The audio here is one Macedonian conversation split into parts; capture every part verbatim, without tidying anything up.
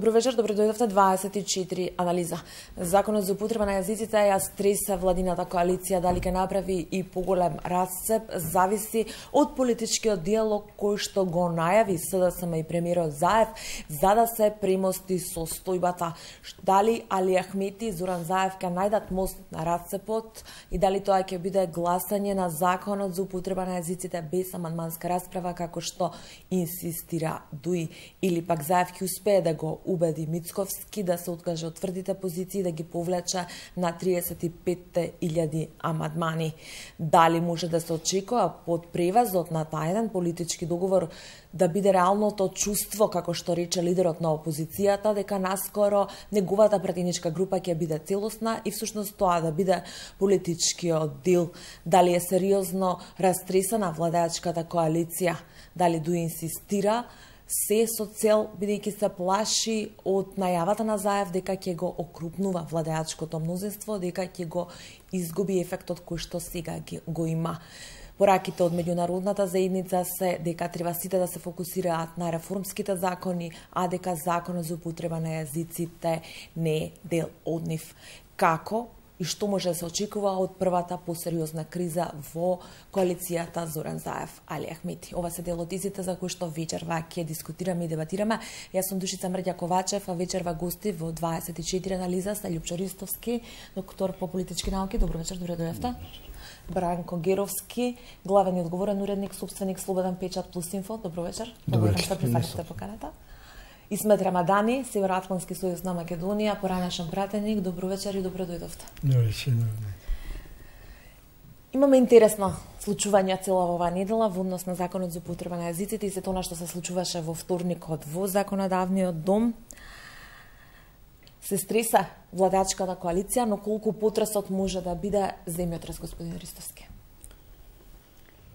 Добро вечер, добро дојдовте дваесет и четири анализа. Законот за употреба на јазиците ја стреса владината коалиција, дали ќе направи и поголем расцеп, зависи од политичкиот диалог кој што го најави СДСМ и премиерот Заев за да се премости состојбата. Дали Али Ахмети и Зоран Заев ќе најдат мост на расцепот и дали тоа ќе биде гласање на законот за употреба на јазиците без амандманска расправа како што инсистира Дуи, или пак Заев ќе успее да го убеди Мицковски да се откаже од тврдите позиции да ги повлече на триесет и пет илјади амандмани. Дали може да се очекува под превазот на тајден политички договор да биде реалното чувство, како што рече лидерот на опозицијата, дека наскоро неговата пратеничка група ќе биде целосна и всушност тоа да биде политичкиот дел. Дали е сериозно растресена владеачката коалиција, дали Дуи инсистира се со цел, бидејќи се плаши од најавата на Заев дека ќе го окрупнува владеачкото мнозинство, дека ќе го изгуби ефектот кој што сега го има. Пораките од меѓународната заедница се дека треба сите да се фокусираат на реформските закони, а дека законот за употреба на јазиците не е дел од нив. Како и што може да се очекува од првата посериозна криза во коалицијата Зоран Заев Али Ахмети? Ова се дел од изите за кои што вечерва ќе дискутираме и дебатираме. Јас сум Душица Мрѓа Ковачев, а вечерва гости во дваесет и четири анализа се Љупчо Ристовски, доктор по политички науки. Добро вечер, добро дојдовте. Бранко Геровски, главен и одговорен уредник, собственик Слободен печат плюс инфо. Добро вечер. Добро вечер. Што прифатите поканата. Исмет Рамадани, Североатлантски сојуз на Македонија, поранешен пратеник. Добро вечер и добро дојдовте. Добро вечер. Имаме интересно случување цела оваа недела во однос на законот за употреба на јазиците и се тоа што се случуваше во вторникот во законодавниот дом. Се стреса владеачката коалиција, но колку потресот може да биде земјотрес, господин Ристовски?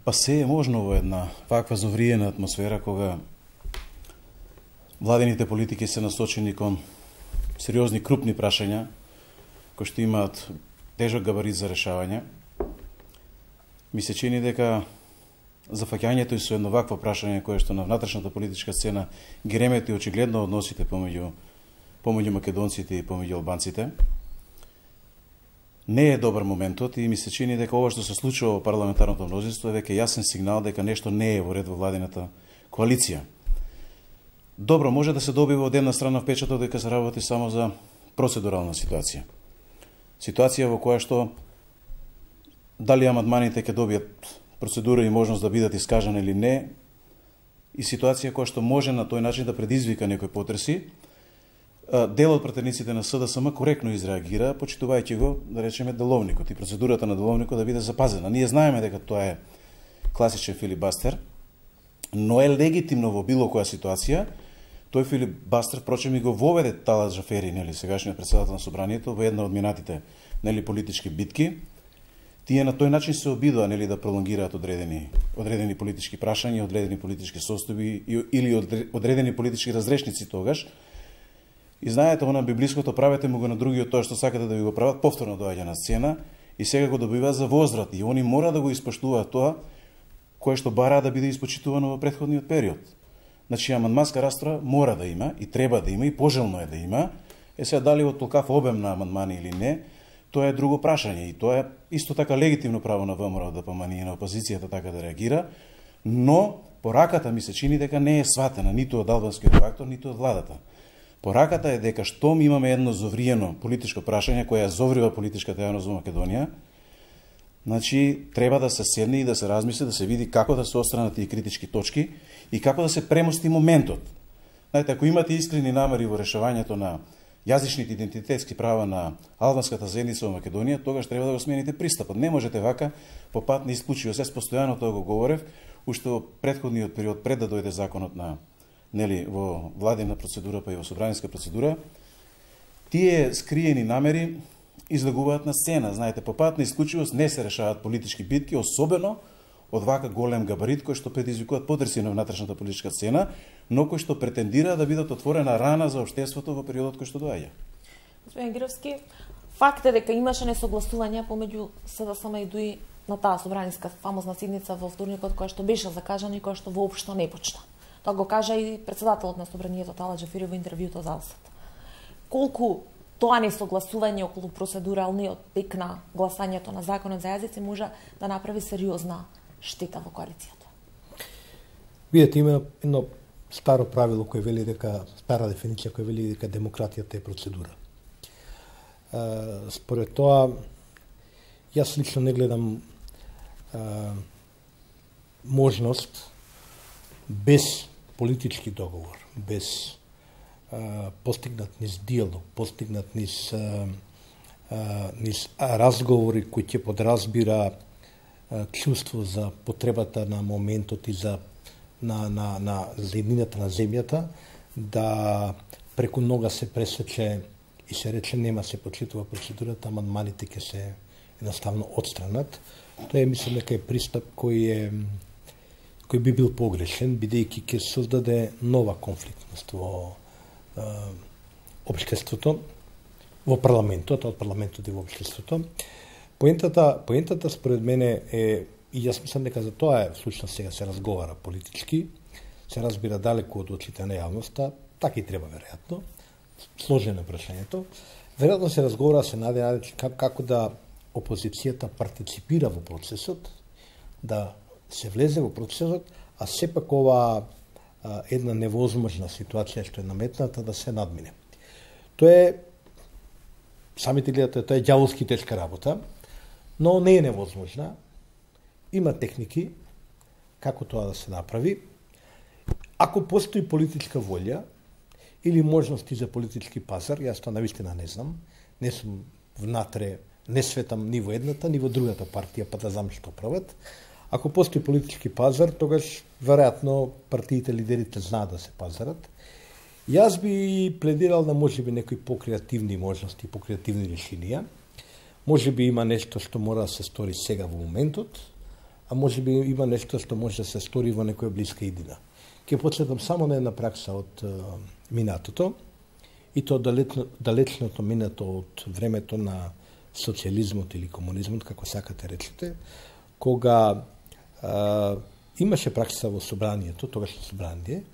Па се е можно во една ваква зовриена атмосфера кога владените политики се насочени кон сериозни крупни прашања кои што имаат тежок габарит за решавање. Ми се чини дека зафаќањето и со едно вакво прашање кое што на внатрешната политичка сцена ги ремети очигледно односите помеѓу помеѓу македонците и помеѓу албанците, не е добар моментот и ми се чини дека ова што се случува во парламентарното мнозинство е веќе јасен сигнал дека нешто не е во ред во владината коалиција. Добро, може да се добива од една страна впечаток дека се работи само за процедурална ситуација. Ситуација во која што дали амандманите ќе добијат процедура и можност да бидат искажани или не, и ситуација која што може на тој начин да предизвика некои потреси. Дел од пратениците на СДСМ коректно изреагира, почитувајќи го, да речеме, деловникот и процедурата на деловникот да биде запазена. Ние знаеме дека тоа е класичен филибастер, но е легитимно во било која ситуација. Тој филибастер, впрочем, и го воведе Талат Джафери, нели, сегашниот председател на собранието, во една од минатите, нели, политички битки. Тие на тој начин се обидоа, нели, да пролонгираат одредени одредени политички прашања, одредени политички состојби или одредени политички разрешници тогаш. И знаете, она библиското правете му го на другиот тоа што сакате да ви го прават, повторно доаѓа на сцена и сега го добива за возврат. И они мора да го испоштуваат тоа кое што бара да биде испочитувано во претходниот период. Значи, амандманска расправа мора да има и треба да има и пожелно е да има. Е сега дали од толкав обем на амандмани или не, тоа е друго прашање и тоа е исто така легитимно право на ВМРО да помани и на опозицијата така да реагира, но пораката ми се чини дека не е сватена ниту од албанскиот фактор, ниту од владата. Пораката е дека штом имаме едно зовриено политичко прашање која зоврива политичката јавност во Македонија, значи треба да се седне и да се размисли, да се види како да се отстранат тие критички точки и како да се премости моментот. Знаете, ако имате искрени намери во решавањето на јазичните идентитетски права на албанската заедница во Македонија, тогаш треба да го смените пристапот. Не можете вака по пат на исклучивост. Јас постојано тоа го говорев, уште во претходниот период пред да дојде законот на нели во владина процедура па и во собраниска процедура. Тие скриени намери излегуваат на сцена. Знаете, по пат на исклучивост не се решаваат политички битки, особено од вака голем габарит кој што предизвикуваат потреси на внатрешната политичка сцена, но кој што претендира да бидат отворена рана за општеството во периодот кој што доаѓа. Господин Гировски, факт е дека имаше несогласувања помеѓу СДСМ и Дуи на таа собраниска фамозна седница во вторникот која што беше закажана и која што воопшто не почна. Тоа го кажа и председателот на Собранието Тала Џафери во интервјуто за Алсат. Колку тоа несогласување околу процедуралниот тек на гласањето на законот за јазици може да направи сериозна штета во коалицијата? Видете, има едно старо правило кој вели дека, стара дефиниција која вели дека демократијата е процедура. Според тоа, јас лично не гледам а, можност без политички договор, без а, постигнат низ диалог, постигнат низ, а, а, низ разговори кои ќе подразбира а, чувство за потребата на моментот и за на, на, на зеднината на земјата, да преку нога се пресече и се рече нема се почитува процедурата, амандманите ќе се едноставно отстранат. Тоа е, мислам, дека е пристап кој е кој би бил погрешен, бидејќи ќе создаде нова конфликтност во е, општеството, во парламентот, од парламентот и во општеството. Поентата, поентата според мене е, и јас мислам дека за тоа е всушност сега се разговара политички, се разбира далеку од очите на јавноста, така и треба веројатно, сложено прашањето. Веројатно се разговара, се наде како да опозицијата партиципира во процесот, да се влезе во процесот, а сепак ова а, една невозможна ситуација што е наметната да се надмине. Тоа е, самите гледате, тоа е ѓаволски тешка работа, но не е невозможна. Има техники како тоа да се направи. Ако постои политичка волја или можности за политички пазар, јас тоа навистина не знам, не сум внатре, не светам ни во едната, ни во другата партија, па да знам што прават. Ако постои политички пазар, тогаш веројатно партиите, лидерите знаат да се пазарат. Јас би пледирал на можеби некои покреативни можности, покреативни решенија. Можеби има нешто што мора да се стори сега во моментот, а можеби има нешто што може да се стори во некоја блиска иднина. Ќе подсетам само на една пракса од uh, минатото, и то далечно, далечното минато од времето на социализмот или комунизмот, како сакате речете, кога а, имаше пракса во собранието, тогашно собрание,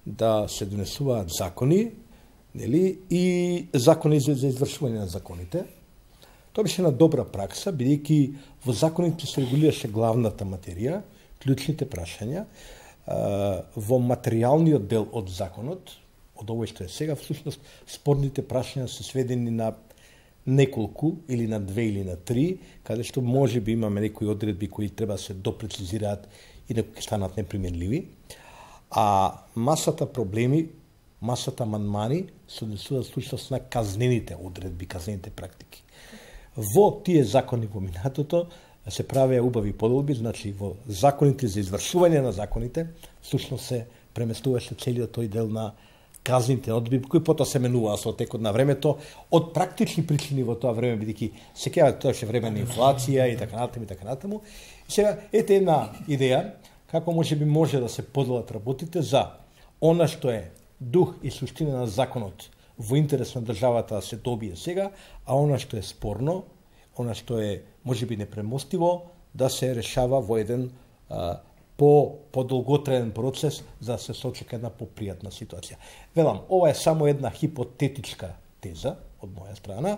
да се донесуваат закони, нели, и закони за, за извршување на законите. Тоа беше една добра пракса, бидејќи во законите се регулираше главната материја, клучните прашања, а, во материјалниот дел од законот, од овој што е сега, всушност спорните прашања се сведени на неколку, или на две, или на три, каде што може би имаме некои одредби кои треба да се допрецизираат и да ќе станат неприменливи. А масата проблеми, масата амандмани се однесуваат всушност на казнените одредби, казнените практики. Во тие закони во минатото се правеа убави подолби, значи во законите за извршување на законите, всушност се преместуваше целиот тој дел на казните одредби, кои потоа се менуваа со текот на времето, од практични причини во тоа време, бидејќи секоја тоа ше време на инфлација и така натаму и така натаму. И сега ете една идеја како може би може да се поделат работите за она што е дух и суштина на законот во интерес на државата да се добие сега, а она што е спорно, она што е можеби непремостиво, да се решава во еден а, по подолготраен процес за да се сочека една попријатна ситуација. Велам, ова е само една хипотетичка теза од моја страна.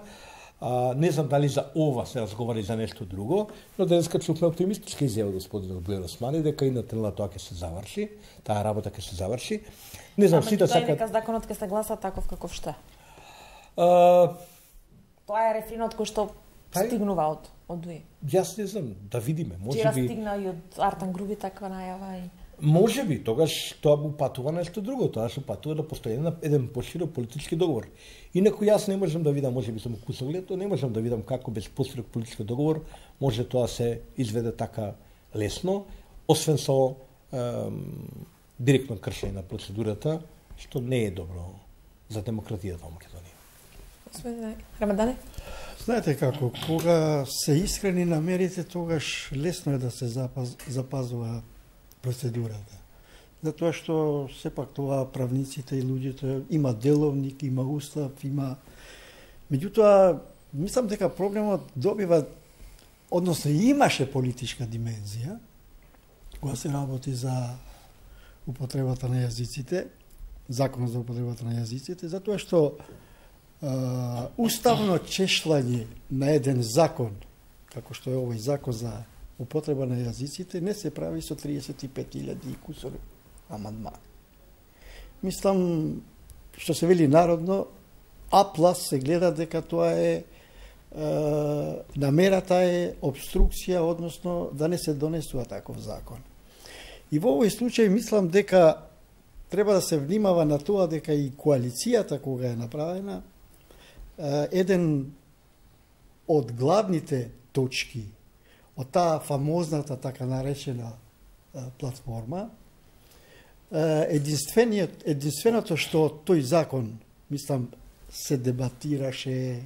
А, не знам дали за ова се разговари за нешто друго, но денеска чувме оптимистичка изјава господинот Бујар Османи дека и на тренала тоа ќе се заврши, таа работа ќе се заврши. Не знам, сите сакаат. Ама дека законот ќе се гласа таков каков што е. А... Тоа е рефренот кој што стигнува од од ДУИ. Јас не знам, да видиме, можеби. Вчера стигна и од Артан Груби таква најава и можеби тогаш тоа упатува нешто друго, тоа што упатува да постои еден, еден поширок политички договор. Инаку јас не можам да видам, можеби сум кусогледо, не можам да видам како без поширок политички договор може тоа се изведе така лесно, освен со ем, директно кршење на процедурата, што не е добро за демократијата во Македонија. Господин Рамадане? Знаете како, кога се искрени намерите, тогаш лесно е да се запаз, запазува процедурата. Затоа што сепак тоа правниците и луѓето има деловник, има устав, има... Меѓутоа, мислам дека проблемот добива, односно имаше политичка димензија, кога се работи за употребата на јазиците, законот за употребата на јазиците, затоа што а, уставно чешлање на еден закон, како што е овој закон за употреба на јазиците, не се прави со триесет и пет илјади и кусор амандмани. Мислам, што се вели народно, А плюс се гледа дека тоа е, е намерата е обструкција, односно да не се донесува таков закон. И во овој случај мислам дека треба да се внимава на тоа дека и коалицијата кога е направена, еден од главните точки од таа фамозната така наречена платформа, единственото што тој закон, мислам, се дебатираше,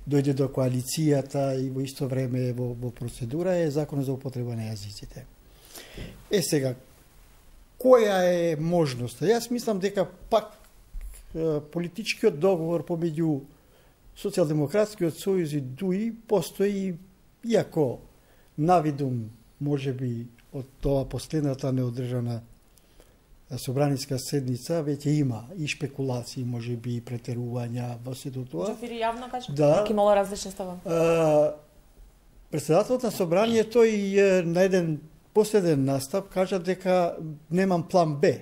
дојде до коалицијата и во исто време во, во процедура е законот за употреба на јазиците. Е сега, која е можноста? Јас мислам дека пак политичкиот договор помеѓу Социјалдемократскиот сојуз и ДУИ постои, иако навидум можеби од тоа последната неодржана собраниска седница веќе има и шпекулации, можеби и претерувања во сето тоа. Джафири јавно кажа, да, дека имало различни ставови. Председателот на собранието и на еден последен настап кажа дека немам план Б.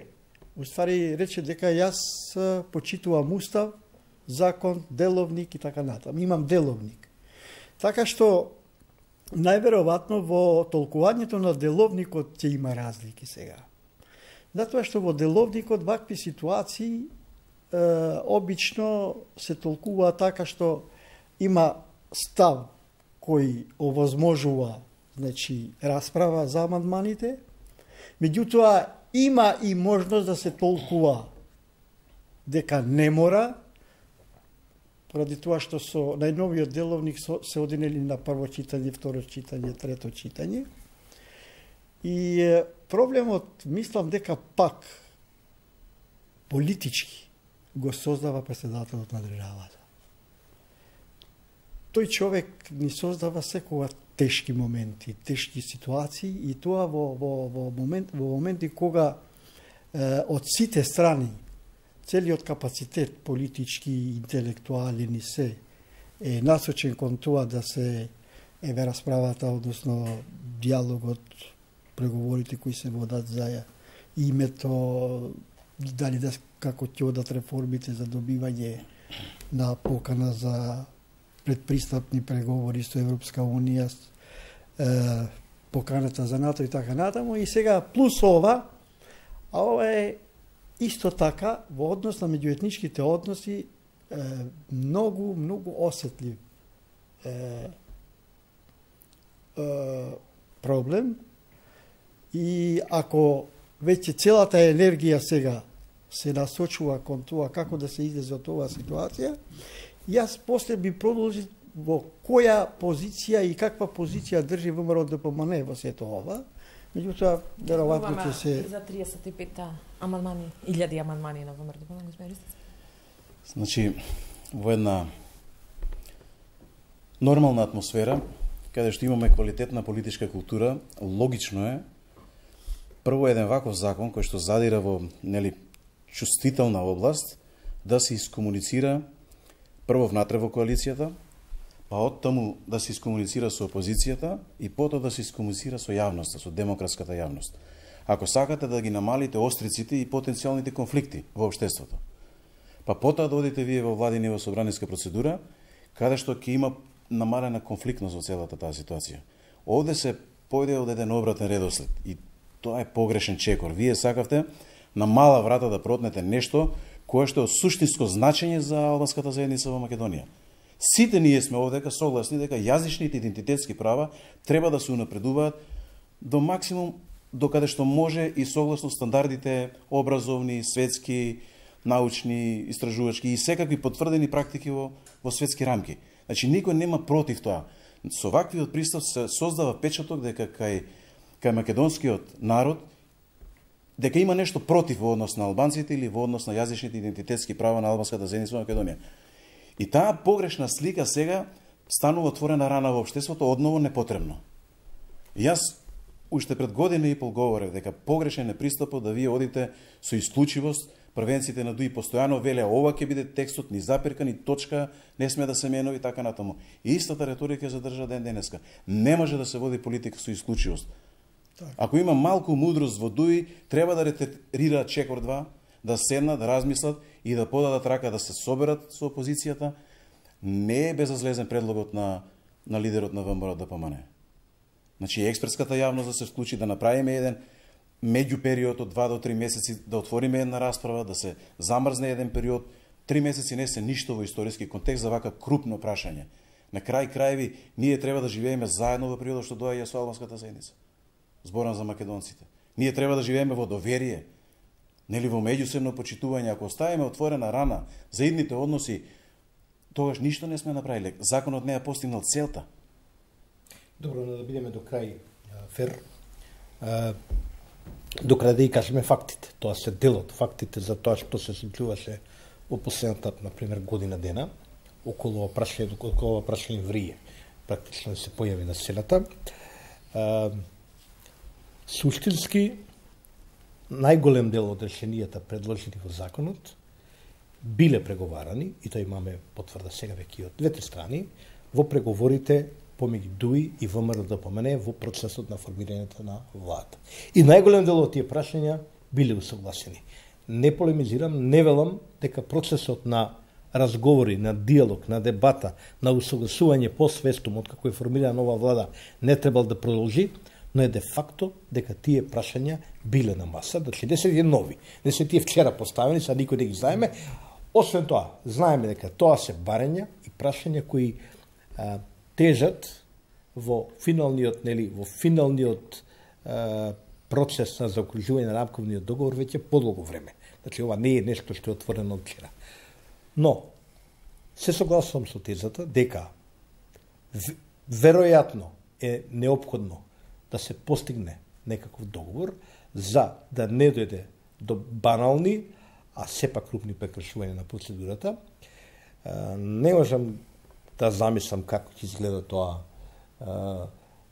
Уствари рече дека јас почитувам устав, закон, деловник и така натаму. Имам деловник. Така што најверојатно во толкувањето на деловникот ќе има разлики сега. Затоа што во деловникот вакви ситуации е, обично се толкува така што има став кој овозможува, значи, расправа за амандманите, меѓутоа има и можност да се толкува дека не мора, поради тоа што со најновиот деловник се одинели на прво читање, второ читање, трето читање. И проблемот, мислам дека пак политички го создава председателот на државата. Тој човек ни создава секогаш тешки моменти, тешки ситуации и тоа во, во, во, момент, во моменти кога е, од сите страни целиот капацитет политички и интелектуален и се е насочен кон тоа да се еве расправата, односно диалогот, преговорите кои се водат за името, дали да како ќе одат реформите за добивање на покана за предпристапни преговори со Европска унија, е, поканата за НАТО и така натаму. И сега плюс ова, а ова е исто така во однос на меѓуетничките односи е, многу, многу осетлив е, е, проблем. И ако веќе целата енергија сега се насочува кон тоа како да се излезе од оваа ситуација, јас после би продолжил во која позиција и каква позиција држи ВМРО ДПМН во сето ова. Меѓутоа, веројатно ќе се за триесет и пет амандмани, илјади амандмани на ВМРО ДПМН, господин Ристов. Значи, во една нормална атмосфера, каде што имаме квалитетна политичка култура, логично е прво еден ваков закон кој што задира во, нели, чувствителна област, да се искомуницира прво внатре во коалицијата, па од таму да се искомуницира со опозицијата и потоа да се искомуницира со јавноста, со демократската јавност. Ако сакате да ги намалите остриците и потенцијалните конфликти во општеството, па потоа да одите вие во владина и во собраниска процедура, каде што ќе има намалена конфликтност во целата таа ситуација. Овде се појде од еден обратен редослед и тоа е погрешен чекор. Вие сакавте на мала врата да протнете нешто кое што е од суштинско значење за албанската заедница во Македонија. Сите ние сме овдека согласни дека јазичните идентитетски права треба да се унапредуваат до максимум до каде што може и согласно стандардите образовни, светски, научни, истражувачки и секакви потврдени практики во, во светски рамки. Значи, никој нема против тоа. Со ваквиот пристап се создава печаток дека кај, кај македонскиот народ дека има нешто против во однос на албанците или во однос на јазичните идентитетски права на албанската заедница во Македонија. И таа погрешна слика сега станува отворена рана во општеството, одново непотребно. Јас уште пред година и пол говорев дека погрешен е пристапот да вие одите со исклучивост, првенците на ДУИ постојано веле ова ќе биде текстот, ни запирка, ни точка, не сме да се менови така натаму. И истата реторика ја задржа ден денеска. Не може да се води политика со исклучивост. Так. Ако има малку мудрост во ДУИ, треба да ретирираат чекор два, да седнат, да размислат и да подадат рака да се соберат со опозицијата. Не е безазлезен предлогот на, на лидерот на ВМРО ДПМН. Значи, експертската јавност да се вклучи, да направиме еден меѓу период од два до три месеци, да отвориме една расправа, да се замрзне еден период. Три месеци не се ништо во историски контекст за вака крупно прашање. На крај крајви, ние треба да живееме заедно во периодот што доаѓа со албанската заедница. Зборам за македонците. Ние треба да живееме во доверие, нели во меѓусебно почитување. Ако оставиме отворена рана за идните односи, тогаш ништо не сме направиле. Законот не е постигнал целта. Добро, да бидеме до крај фер. До крај да и кажеме фактите. Тоа се дел од фактите за тоа што се случуваше во последната, например, година дена, околу прашање, околу прашање врие. Практично се појави на сцената. Суштински, најголем дел од решенијата предложени во законот биле преговарани, и тоа имаме потврда сега веќе од двете страни, во преговорите помеѓу ДУИ и ВМРО ДПМН во процесот на формирањето на владата. И најголем дел од тие прашања биле усогласени. Не полемизирам, не велам дека процесот на разговори, на диалог, на дебата, на усогласување посвестум од како е формирана нова влада не требал да продолжи, но е де факто дека тие прашања биле на маса, значи не се тие нови, не се тие вчера поставени, са никој не ги знаеме. Освен тоа, знаеме дека тоа се барања и прашања кои а, тежат во финалниот, нели, во финалниот а, процес на заокружување на рамковниот договор веќе подолго време. Значи ова не е нешто што е отворено од вчера. Но се согласувам со тезата дека веројатно е неопходно да се постигне некаков договор за да не дојде до банални, а сепак крупни прекршувања на процедурата. Не можам да замислам како ќе изгледа тоа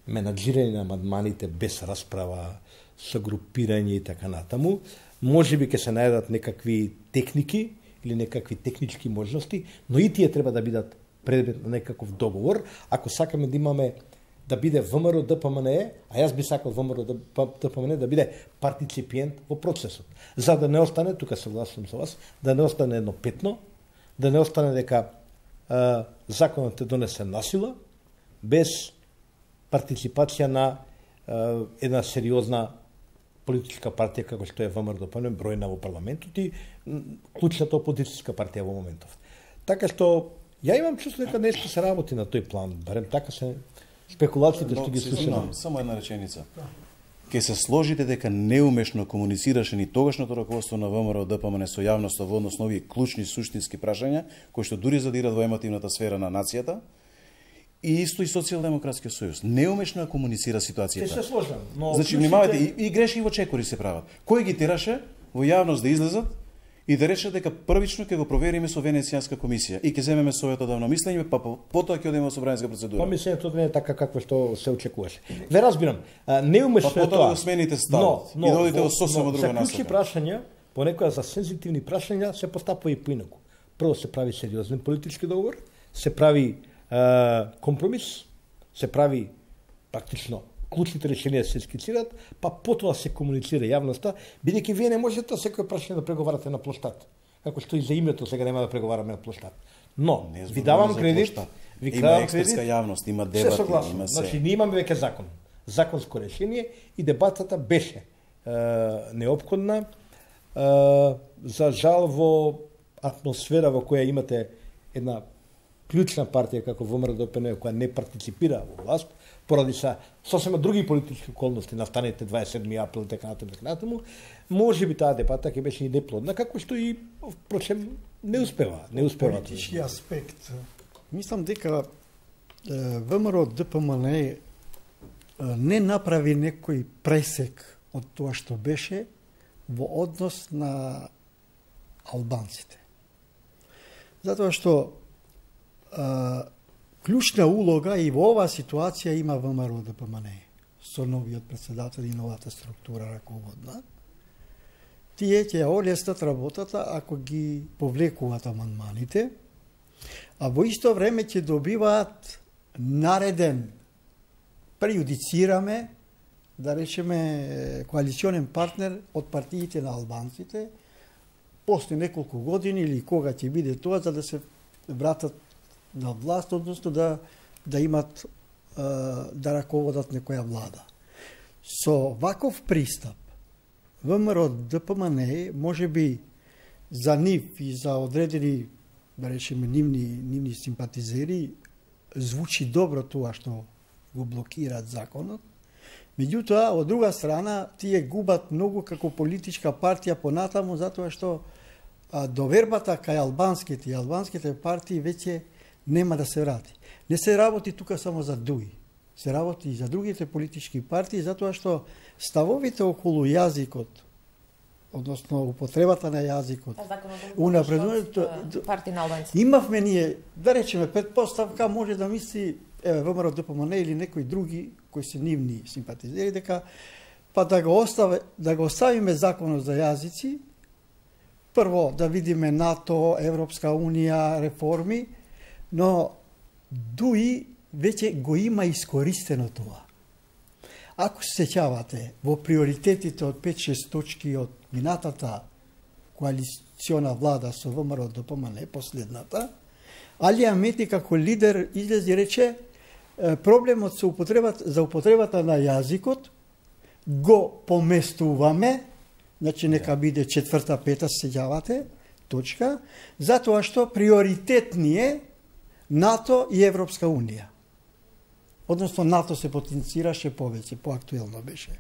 менаџирање на амандманите без расправа, со групирање и така натаму. Може би ќе се најдат некакви техники или некакви технички можности, но и тие треба да бидат предмет на некаков договор, ако сакаме да имаме да биде ВМРО ДПМН, а јас би сакал ВМРО ДПМН да биде партиципиент во процесот. За да не остане, тука согласувам со вас, да не остане едно петно, да не остане дека а, законот е донесен насила, без партиципација на а, една сериозна политичка партија како што е ВМРО ДПМН, бројна во парламентот и клучната опозицијска партија во моментов. Така што ја имам чувство дека нешто се работи на тој план, барем така се спекулациите што ги слушам. Само една реченица. Ке се сложите дека неумешно комуницираше ни тогашното раководство на ВМРО ДПМН со јавноста во однос на овие клучни суштински прашања, кои што дури задират во емотивната сфера на нацијата, и исто и Социјалдемократскиот сојуз. Неумешно ја комуницира ситуацијата. Се сложам, но значи внимавајте, и, и грешки во чекори се прават. Кој ги тераше во јавност да излезат и да речат дека првично ќе го провериме со Венецијанска комисија и ќе земеме своето давно мислење, па потоа ќе одиме во собраниска процедура. Па мислењето не е така како што се очекуваше. Ве разбирам, неумешно па, е тоа. Па го смените ставот и да одите во сосема друга насока. За клучни прашања, понекогаш за сензитивни прашања се постапува и поинаку. Прво се прави сериозен политички договор, се прави а, компромис, се прави практично клучните решенија се скицираат, па потоа се комуницира јавноста, бидејќи вие не можете секој прашање да преговарате на площад. Како што и за името сега нема да преговараме на площад. Но не, ви давам кредит, ви има експертска јавност, има дебати, има се. Значи ние имаме веќе закон, законско решение и дебатата беше е, неопходна. Е, за жал во атмосфера во која имате една клучна партија како ВМРО ДПМН која не партиципира во власт, поради са сосема други политички околности, настаните дваесет и седми април и така натаму, така натаму, може би таа дебата ќе беше и неплодна, како што и впрочем не успева, не успева. Политички аспект. Мислам дека ВМРО ДПМН не направи некој пресек од тоа што беше во однос на албанците. Затоа што а, клучна улога и во оваа ситуација има ВМРО ДПМН. со новиот председател и новата структура раководна, тие ќе олеснат работата ако ги повлекуваат амандманите, а во исто време ќе добиваат нареден, преюдицираме, да речеме, коалиционен партнер од партиите на албанците, после неколку години или кога ќе биде тоа, за да се вратат на власт, односно да, да имат, да раководат некоја влада. Со ваков пристап, ВМРО ДПМН може би за нив и за одредени, да речеме, нивни, нивни симпатизери, звучи добро тоа што го блокираат законот. Меѓутоа, од друга страна, тие губат многу како политичка партија понатаму, затоа што а, довербата кај албанските и албанските партии веќе нема да се врати. Не се работи тука само за ДУИ, се работи и за другите политички партии, затоа што ставовите околу јазикот, односно употребата на јазикот, унапредувањето партии на албанците. Имавме ние, да речеме, предпоставка може да мисли, еве, ВМРО ДПМН или некои други кои се нивни симпатизери, дека па да го остави, да го оставиме законот за јазици, прво да видиме НАТО, Европска унија, реформи, но ДУИ веќе го има искористено тоа. Ако се сеќавате во приоритетите од пет-шест точки од минатата коалициона влада со ВМРО ДПМН, последната, Али Амети како лидер излезе и рече проблемот со употребата, за употребата на јазикот го поместуваме, значи нека биде четврта, пета, се сеќавате, точка, затоа што приоритет ни е НАТО и Европска унија. Односно, НАТО се потенцираше повеќе, поактуелно беше.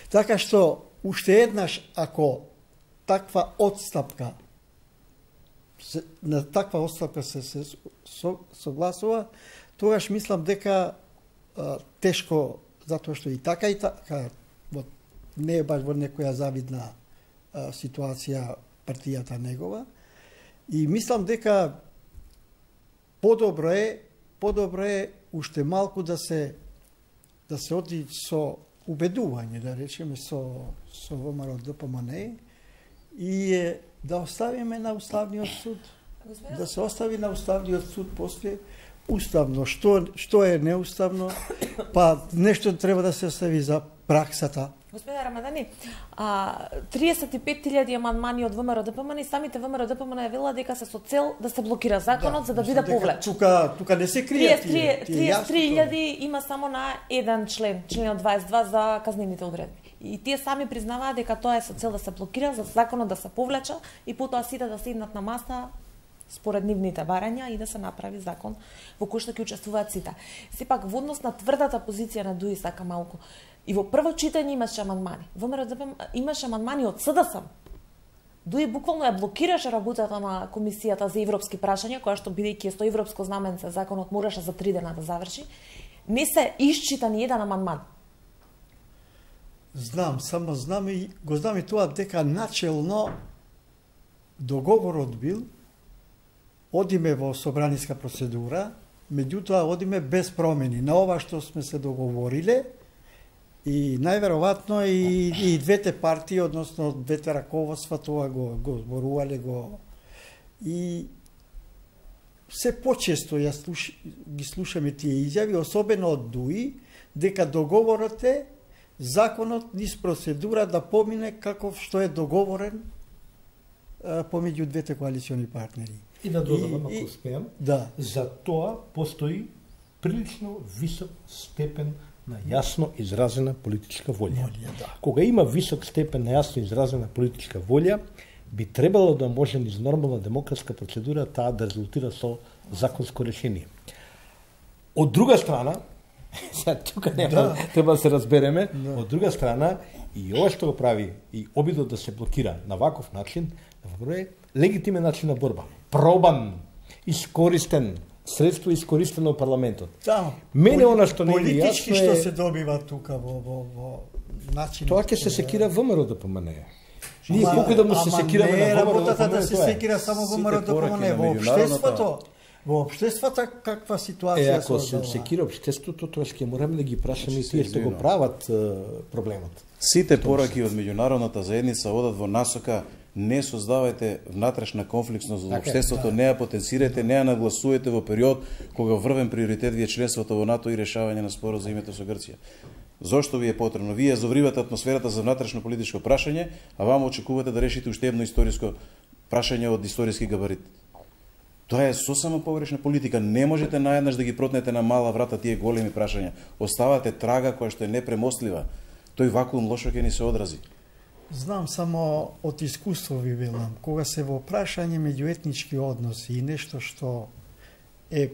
Така што, уште еднаш, ако таква отстапка, на таква отстапка се, се со, согласува, тогаш мислам дека а, тешко, затоа што и така и така, вот, не е баш во некоја завидна а, ситуација партијата негова, и мислам дека подобро е, подобро е уште малку да се да се оди со убедување, да речеме, со, со ВМРО ДПМН и е, да оставиме на Уставниот суд. Господина? Да се остави на Уставниот суд после уставно. Што, што е неуставно? Па нешто треба да се остави за праксата. Господина Рамадани, а, триесет и пет илјади амандмани од ВМРО ДПМН и самите ВМРО ДПМН ја велат дека се со цел да се блокира законот, да, за да биде повлек. Тука, тука не се кријат тие. триесет и три илјади има само на еден член, членот дваесет и два за казнените одредби. И тие сами признаваат дека тоа е со цел да се блокира, за законот да се повлеча и потоа сите да седнат на маса според нивните барања и да се направи закон во кој што ќе учествуваат сите. Сепак во однос на тврдата позиција на ДУИ сака малку. И во прво читање имаше амандмани. ВМРО ДПМН имаше амандмани од СДСМ. ДУИ буквално ја блокираше работата на комисијата за европски прашања, која што бидејќи со европско знаменце законот мораше за три дена да заврши. Не се исчита ни еден амандман. Знам, само знам и го знам и тоа дека начелно договорот бил одиме во собраниска процедура, меѓутоа одиме без промени на ова што сме се договориле и најверојатно и, и двете партии, односно двете раководства тоа го, го зборувале го и се почесто ја слуш, ги слушаме тие изјави, особено од ДУИ, дека договорот е законот низ процедура да помине како што е договорен а, помеѓу двете коалициони партнери. И да додадам, ако успеам, да. За тоа постои прилично висок степен на јасно изразена политичка волја. волја да. Кога има висок степен на јасно изразена политичка волја, би требало да може низ нормална демократска процедура таа да резултира со законско решение. Од друга страна, сега тука нема, да. треба да се разбереме, да. Од друга страна, и ова што го прави, и обидот да се блокира на ваков начин, е легитимен начин на борба. Пробан, искористен, средство искористено во парламентот. Да, мене она што не е политички јасно што е... се добива тука во, во, во начин... Тоа ќе се секира ВМРО ДПМН. Ние колку да му се секираме на ВМРО работата да се секира само ВМРО ДПМН, во општеството. Во општеството каква Е, ситуација ако се создава? секира општеството, тоа ќе мораме да ги прашаме и тие што го прават е, проблемот. Сите пораки од меѓународната заедница одат во насока не создавајте внатрешна конфликтност во општеството, не ја потенцирајте, не ја нагласувате во период кога врвен приоритет ви е членството во НАТО и решавање на спорот за името со Грција. Зошто ви е потребно? Вие завривате атмосферата за внатрешно политичко прашање, а вама очекувате да решите уште едно историско прашање од историски габарит. Тоа е сосема погрешна политика. Не можете наеднаш да ги протнете на мала врата тие големи прашања. Оставате трага која што е непремостлива. Тој вакуум лошо ќе ни се одрази. Знам само од искуство ви велам, кога се во прашање меѓуетнички односи и нешто што е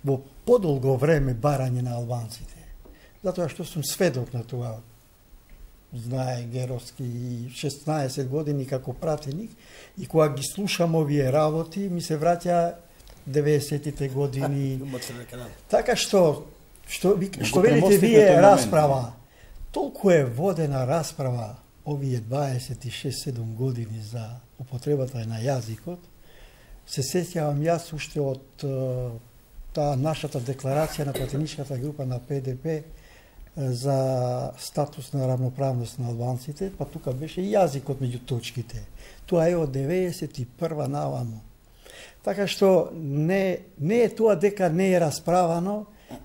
во подолго време барање на албанците, затоа што сум сведок на тоа, знае Геровски и шеснаесет години како пратеник, и кога ги слушам овие работи, ми се враќа деветесетите години. Така што, што, што велите вие расправа, толку е водена расправа овие дваесет и шест седум години за употребата на јазикот, се сеќавам јас уште од таа нашата декларација на пратеничката група на Пе Де Пе за статус на равноправност на албанците, па тука беше и јазикот меѓу точките. Тоа е од деветдесет и прва наваму. Така што не, не е тоа дека не е расправано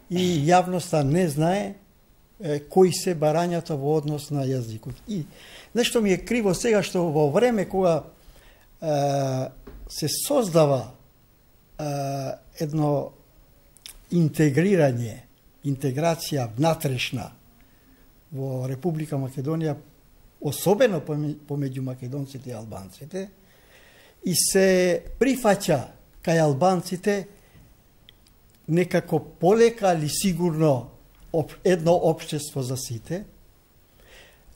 и јавноста не знае е, кои се барањата во однос на јазикот. И нешто ми е криво сега што во време кога е, се создава е, едно интегрирање, интеграција внатрешна во Република Македонија, особено помеѓу македонците и албанците, и се прифаќа кај албанците некако полека или сигурно едно општество за сите,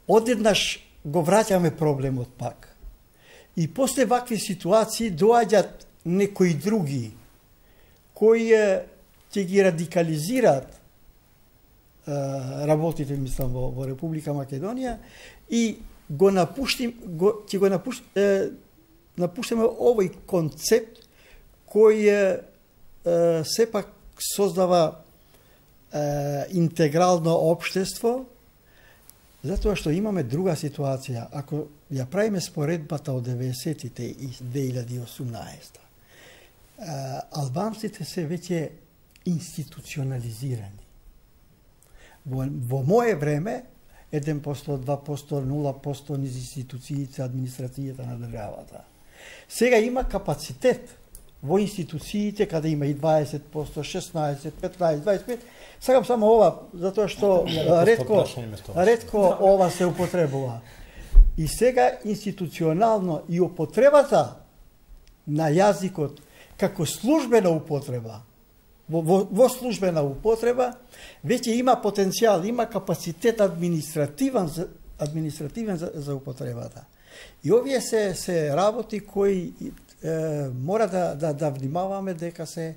одеднаш го враќаме проблемот пак. И после вакви ситуации доаѓат некои други кои ќе ги радикализираат работите, мислам, во, во Република Македонија и го напуштим, го, ќе го напуш, е, напуштиме овој концепт кој е, е, сепак создава е, интегрално општество, затоа што имаме друга ситуација. Ако ја правиме споредбата од деветдесетите и две илјади и осумнаесета, е, албанците се веќе институционализирани. Во, во моје време, еден процент, два проценти, нула проценти низ институциите, администрацијата на државата. Сега има капацитет во институциите, каде има и дваесет проценти, шеснаесет, петнаесет, дваесет и пет. Сакам само ова, затоа што ретко, ретко ова се употребува. И сега институционално и употребата на јазикот како службена употреба, Во, во, во службена употреба, веќе има потенцијал, има капацитет административен за, административен за, за употребата. И овие се, се работи кои е, мора да, да, да внимаваме дека се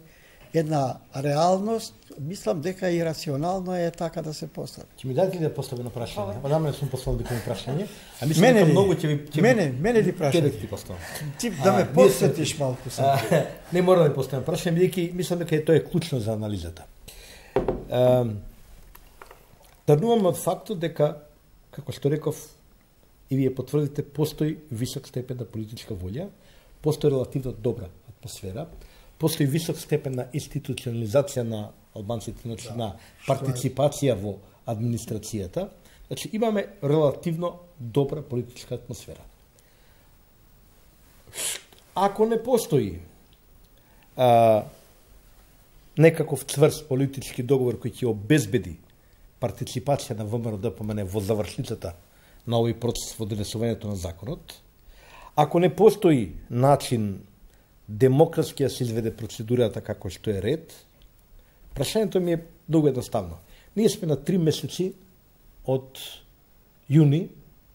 една реалност, мислам дека и рационално е така да се постави. Ќе ми дадете да поставам прашање? Одамна сум поставил дека ми прашање, а мислам дека многу ќе ви ќе мене мене ли прашање? Ќе ти поставам. Ти да ме посетиш малку само. Не мора да поставам прашање, бидејќи мислам дека тоа е клучно за анализата. Тргнувам од фактот дека, како што реков, и вие потврдите, постои висок степен на политичка волја, постои релативно добра атмосфера, постои висок степен на институционализација на албанците, значи да, на партиципација во администрацијата. Значи имаме релативно добра политичка атмосфера. Ако не постои а, некаков цврст политички договор кој ќе обезбеди партиципација на Вэ Ем Р Д П М Н во завршницата на овој процес во донесувањето на законот, ако не постои начин демократски да се изведе процедурата како што е ред, прашањето ми е многу едноставно. Ние сме на три месеци од јуни,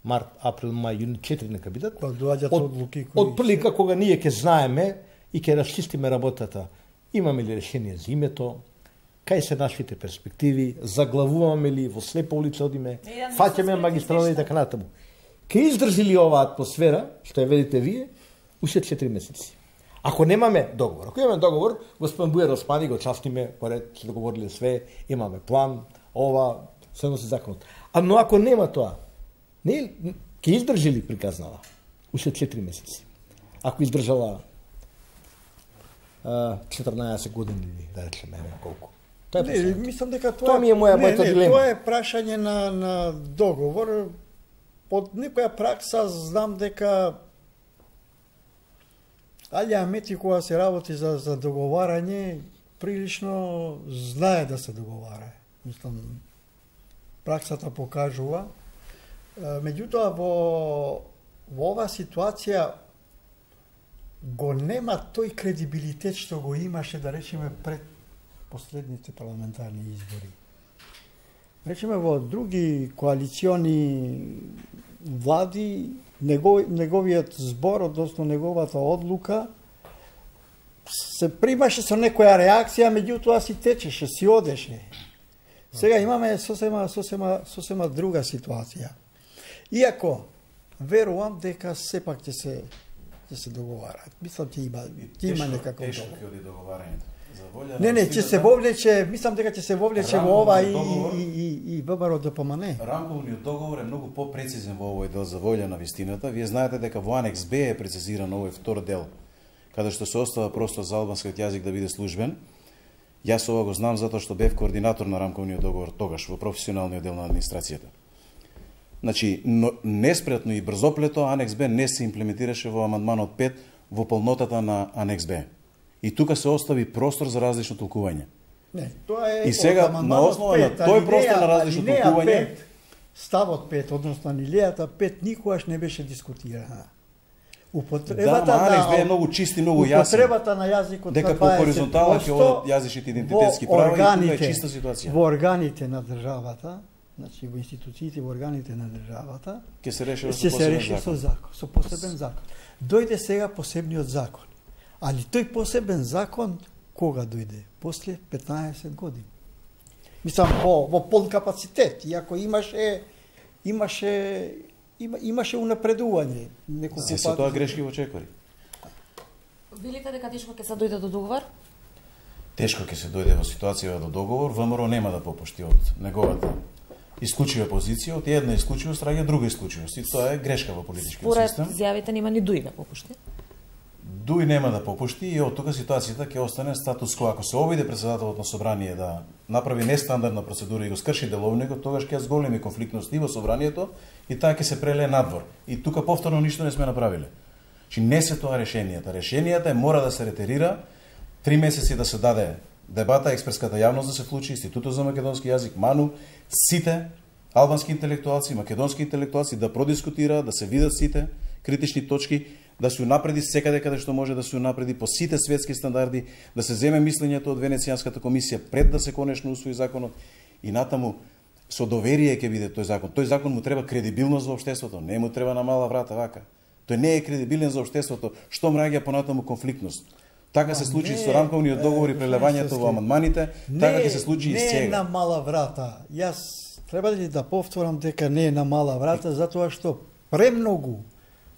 март, април, мај, јуни, четири нека бидат. Кога доаѓаат одлуки кои од прилика кога ние ќе знаеме и ќе расчистиме работата. Имаме ли решение за името? Кај се нашите перспективи? Заглавуваме ли во слепа улица одиме? Фаќаме магистрала и така натаму. Ке издржи ли оваа атмосфера, што ја видите вие, уште четири месеци? Ако немаме договор, ако имаме договор, господин Бујар Османи го частиме, поред, се договориле све, имаме план, ова, се носи законот. А но ако нема тоа, не ќе издржи ли приказнава? Уште четири месеци. Ако издржала четрнаесет години или да речеме колку. Тоа е не, мислам дека тоа, тоа ми е моја не, мојата не, дилема. Тоа е прашање на на договор. Под некоја пракса знам дека Алија Амети кога се работи за за договарање, прилично знае да се договара. Мислам праксата покажува. Меѓутоа во во оваа ситуација го нема тој кредибилитет што го имаше, да речеме, пред последните парламентарни избори. Речеме, во други коалициони влади, него, неговиот збор, односно неговата одлука, се примаше со некоја реакција, меѓутоа си течеше, си одеше. Сега имаме сосема, сосема, сосема друга ситуација. Иако, верувам дека сепак ќе се ќе се договараат. Мислам ќе има ќе има некако тешко ќе оди договарањето. За волја Не, не, ќе се вовлече, мислам дека ќе се вовлече во ова и договор, и и и ВМРО ДПМН. Рамковниот договор е многу попрецизен во овој дел за волја на вистината. Вие знаете дека во анекс Б е прецизиран овој втор дел, каде што се остава простор за албанскиот јазик да биде службен. Јас ова го знам затоа што бев координатор на рамковниот договор тогаш во професионалниот дел на администрацијата. Значи, но, неспретно и брзоплето анекс Б не се имплементираше во амандманот пет во полнотата на анекс Б. И тука се остави простор за различно толкување. Не, тоа е И сега, на основа на тој простор на различно толкување, ставот пет, односно анилејата пет, никогаш не беше дискутирана. да, Употребата ма анекс Б е на многу чист и многу јасен. употребата на јазикот Дека на по хоризонтала ќе одат јазичните идентитетски права и тука е чиста ситуација. Во органите на државата, значи во институциите, во органите на државата, Ќе се реши ќе со се посебен реши со закон. закон, со посебен закон. Дојде сега посебниот закон. Али тој посебен закон кога дојде? После петнаесет години. Мислам во во полн капацитет, иако имаше имаше има, имаше унапредување неколку Се се тоа грешки во чекори. Велите дека тешко ќе се дојде до договор? Тешко ќе се дојде во ситуација до договор, ВМРО нема да попушти од неговата исклучива позиција, од една исклучивост раѓа друга исклучивост. И тоа е грешка во политичкиот Според систем. изјавите нема ни дуј да попушти. Дуј нема да попушти и од тука ситуацијата ќе остане статус кво. Ако се обиде председателот на собрание да направи нестандардна процедура и го скрши деловникот, тогаш ќе зголеми конфликтност и во собранието и таа ќе се прелее надвор. И тука повторно ништо не сме направиле. Чи не се тоа решенијата. Решенијата е мора да се ретерира, три месеци да се даде дебата, експертската јавност да се вклучи, Институтот за македонски јазик, МАНУ, сите албански интелектуалци, македонски интелектуалци да продискутираат, да се видат сите критични точки, да се унапреди секаде каде што може да се унапреди по сите светски стандарди, да се земе мислењето од Венецијанската комисија пред да се конечно усвои законот и натаму со доверие ќе биде тој закон. Тој закон му треба кредибилност во општеството, не му треба на мала врата вака. Тој не е кредибилен за општеството, што мраѓа понатаму конфликтност. Така се случи со рамковниот договор и прелевањето во амандманите, така ќе се случи и сега. Не е на мала врата. Јас треба ли да повторам дека не е на мала врата, затоа што премногу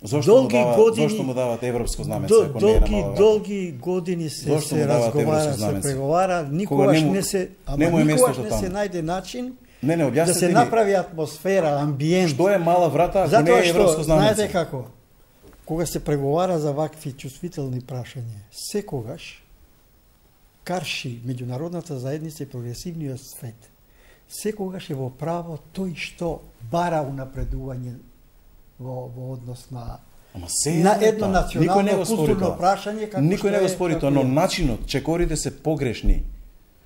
Зошто долги му дава, години, зошто му дават европско знаменце, до, ако не е на долги, мала врата? долги години се, Зошто се му дават разговара, европско се знаменце? преговара, никогаш не му- не се, ама не му е никогаш местото не таму. се најде начин Не, не, да објаснете се ми, направи атмосфера, амбиент. што е мала врата, ако не Затоа е што, европско знаменце? знаете како, кога се преговара за вакви чувствителни прашања, секогаш карши меѓународната заедница и прогресивниот свет. Секогаш е во право тој што бара унапредување во, во однос на Ама се на е едно тоа. Никој не национално го спори културно тоа. прашање како Никој што не го е- спори како тоа, но е. начинот, чекорите се погрешни.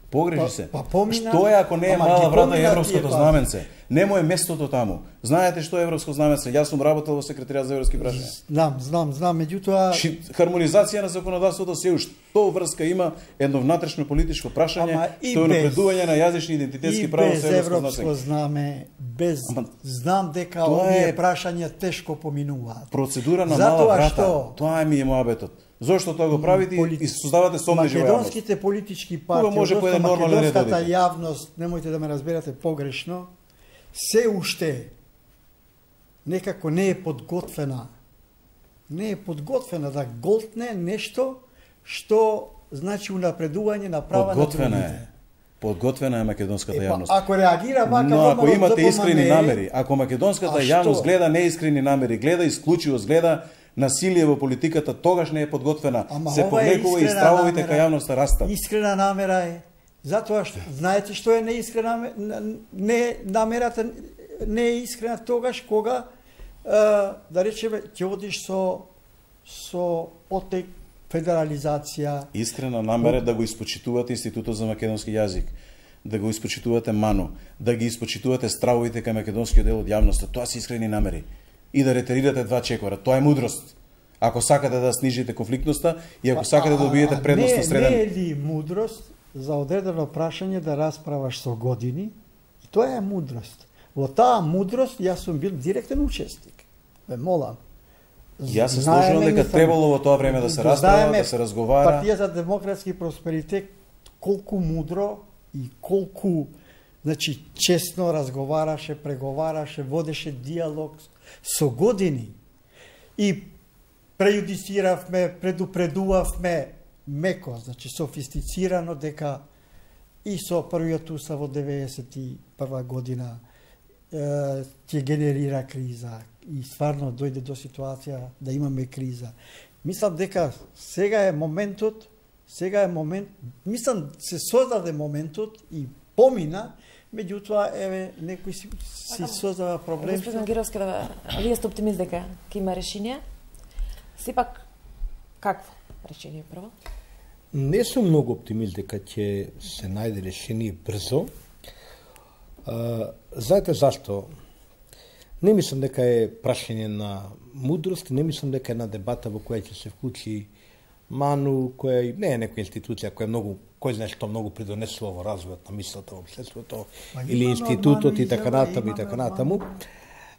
Погреши Па- се. па помина- Што е ако не е ама мала ги врата помина и тие европското фази. знаменце? Немо е местото таму. Знаете што е европско знаменце? Јас сум работел во секретаријат за европски прашања. Знам, знам, знам, меѓутоа Ши, хармонизација на законодавството се уште што врска има едно внатрешно политичко прашање, Ама и тоа е без- напредување на јазични идентитетски и права без со европско европско знаменце. знаме, без Ама, знам дека тоа овие е- прашања тешко поминуваат. Процедура на Затоа мала врата. што- Тоа ми е моабетот. Зошто тоа го правите и- Полит- и создавате сомнежи во јавност? Македонските политички партии, може по еден односно нормален ред да македонската одите. јавност, немојте да ме разберете погрешно, се уште некако не е подготвена. Не е подготвена да голтне нешто што значи унапредување на права на другите. Подготвена е македонската Епа, јавност. ако реагира вака, но ако имате искрени ДПМН, намери, ако македонската јавност гледа неискрени намери, гледа исклучивост, гледа насилие во политиката, тогаш не е подготвена. Ама се повлекува и стравовите кај јавноста растат. Искрена намера е. Затоа што знаете што е неискрена не намерата не е искрена тогаш кога е, да речеме ќе одиш со со отек федерализација. Искрена намера да го испочитувате Институтот за македонски јазик, да го испочитувате МАНУ, да ги испочитувате стравовите кај македонскиот дел од јавноста, тоа се искрени намери. И да ретерирате два чекора, тоа е мудрост. Ако сакате да снижите конфликтноста и ако сакате да добиете предност на среден... Не е ли мудрост за одредено прашање да расправаш со години? И тоа е мудрост. Во таа мудрост јас сум бил директен учесник. Ве молам. Јас се сложувам дека требало во тоа време да се расправа, да се разговара. Партија за демократски просперитет колку мудро и колку значи честно разговараше, преговараше, водеше диалог со години. И прејудициравме, предупредувавме меко, значи софистицирано дека и со првиот устав во деветдесет и прва година е, ќе генерира криза и стварно дојде до ситуација да имаме криза. Мислам дека сега е моментот, сега е момент, мислам се создаде моментот и помина, меѓутоа еве некој си, си создава проблем. Господин Гировски, да, вие сте оптимист дека ќе има решение? Сепак какво решение прво? Не сум многу оптимист дека ќе се најде решение брзо. А, знаете зашто? Не мислам дека е прашање на мудрост, не мислам дека е една дебата во која ќе се вклучи МАНУ, која не е некоја институција која многу, кој знае што многу придонесува во развојот на мислата во општеството, или институтот и така натаму и така натаму.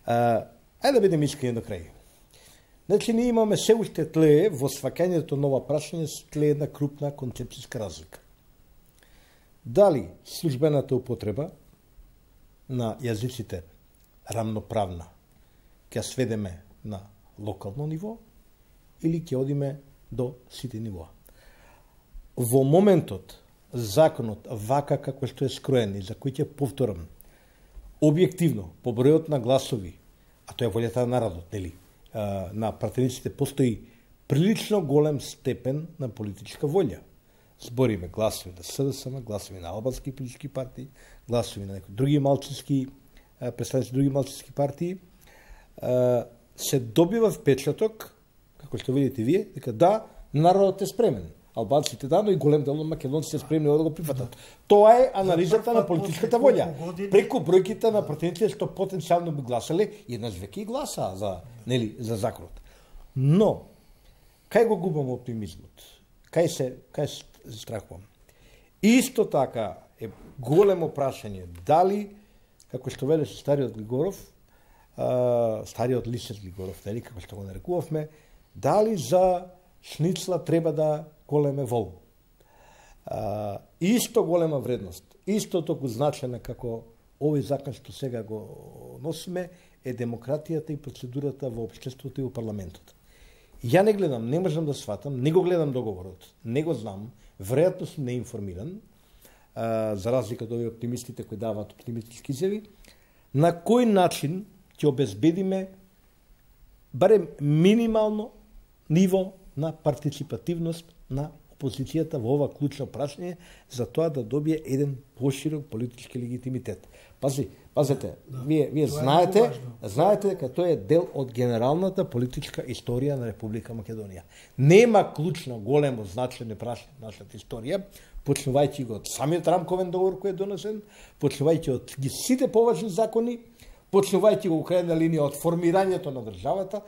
Ајде да бидеме искрени до крај. Значи, ние имаме се уште тлее во сваќањето на ова прашање тлее една крупна концепцијска разлика. Дали службената употреба на јазиците рамноправна ќе сведеме на локално ниво или ќе одиме до сите нивоа. Во моментот законот вака како што е скроен и за кој ќе повторам објективно по бројот на гласови, а тоа е волјата на народот, нели? На пратениците постои прилично голем степен на политичка волја. Збориме гласови на СДСМ, гласови на албански политички партии, гласови на некои други малцински представници други малцински партии, се добива впечаток, како што видите вие, дека да, народот е спремен. Албанците да, но и голем дел од македонците спремни да го прифатат. Тоа е анализата на политичката волја. Преку бројките на пратениците што потенцијално би гласале, еднаш веќе и гласа за, нели, за законот. Но кај го губам оптимизмот? Кај се кај се страхувам? Исто така е големо прашање дали, како што велеше стариот Глигоров, стариот Лисец Глигоров, нели, како што го нарекувавме, дали за шницла треба да големе вол. А, исто голема вредност, исто толку значена како овој закон што сега го носиме, е демократијата и процедурата во општеството и во парламентот. Ја не гледам, не можам да сватам, не го гледам договорот, не го знам, веројатно сум неинформиран, а, за разлика од овие оптимистите кои даваат оптимистички изјави, на кој начин ќе обезбедиме барем минимално ниво на партиципативност на опозицијата во ова клучно прашање за тоа да добие еден поширок политички легитимитет. Пази, пазете, да, вие вие знаете, е знаете дека тоа е дел од генералната политичка историја на Република Македонија. Нема клучно големо значење прашање на нашата историја, почнувајќи го од самиот рамковен договор кој е донесен, почнувајќи од ги сите поважни закони, почнувајќи го во крајна линија од формирањето на државата,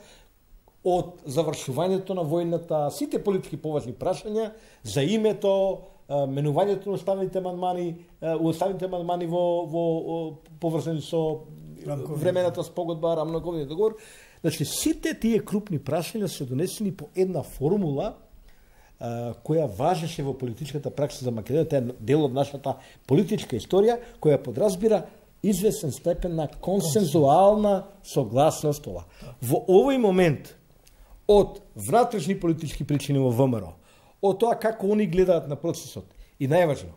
од завршувањето на војната, сите политички поважни прашања за името, менувањето на уставните амандмани, уставните амандмани во, во поврзани со времената спогодба, рамковниот договор. Значи сите тие крупни прашања се донесени по една формула која важеше во политичката пракса за Македонија, тоа е дел од нашата политичка историја, која подразбира известен степен на консензуална согласност ова. Во овој момент од внатрешни политички причини во ВМРО, од тоа како они гледаат на процесот. И најважно,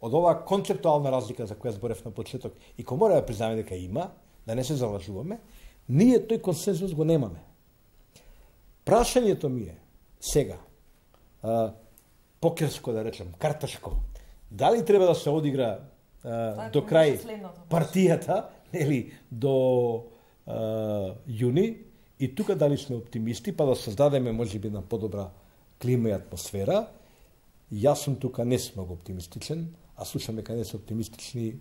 од оваа концептуална разлика за која зборев на почеток, и кој мора да признаме дека има, да не се залажуваме, ние тој консензус го немаме. Прашањето ми е сега, а, покерско да речем, карташко, дали треба да се одигра а, до крај партијата, или до а, јуни, и тука дали сме оптимисти, па да создадеме можеби на подобра клима и атмосфера. Јас сум тука не сум многу оптимистичен, а слушаме каде се оптимистични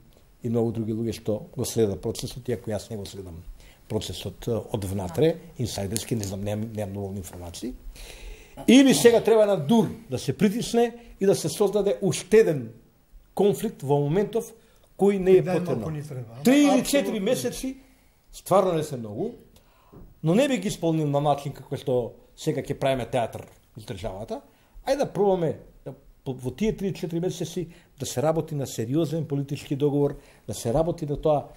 и многу други луѓе што го следат процесот, иако јас не го следам процесот од внатре, инсайдерски, не знам, немам, немам доволни информации. Или сега треба на дур да се притисне и да се создаде уште еден конфликт во моментов кој не е потребно. Три или четири месеци стварно не се многу, но не би ги исполнил на начин како што сега ќе правиме театар из државата. Ајде да пробаме да, во тие три или четири месеци да се работи на сериозен политички договор, да се работи на тоа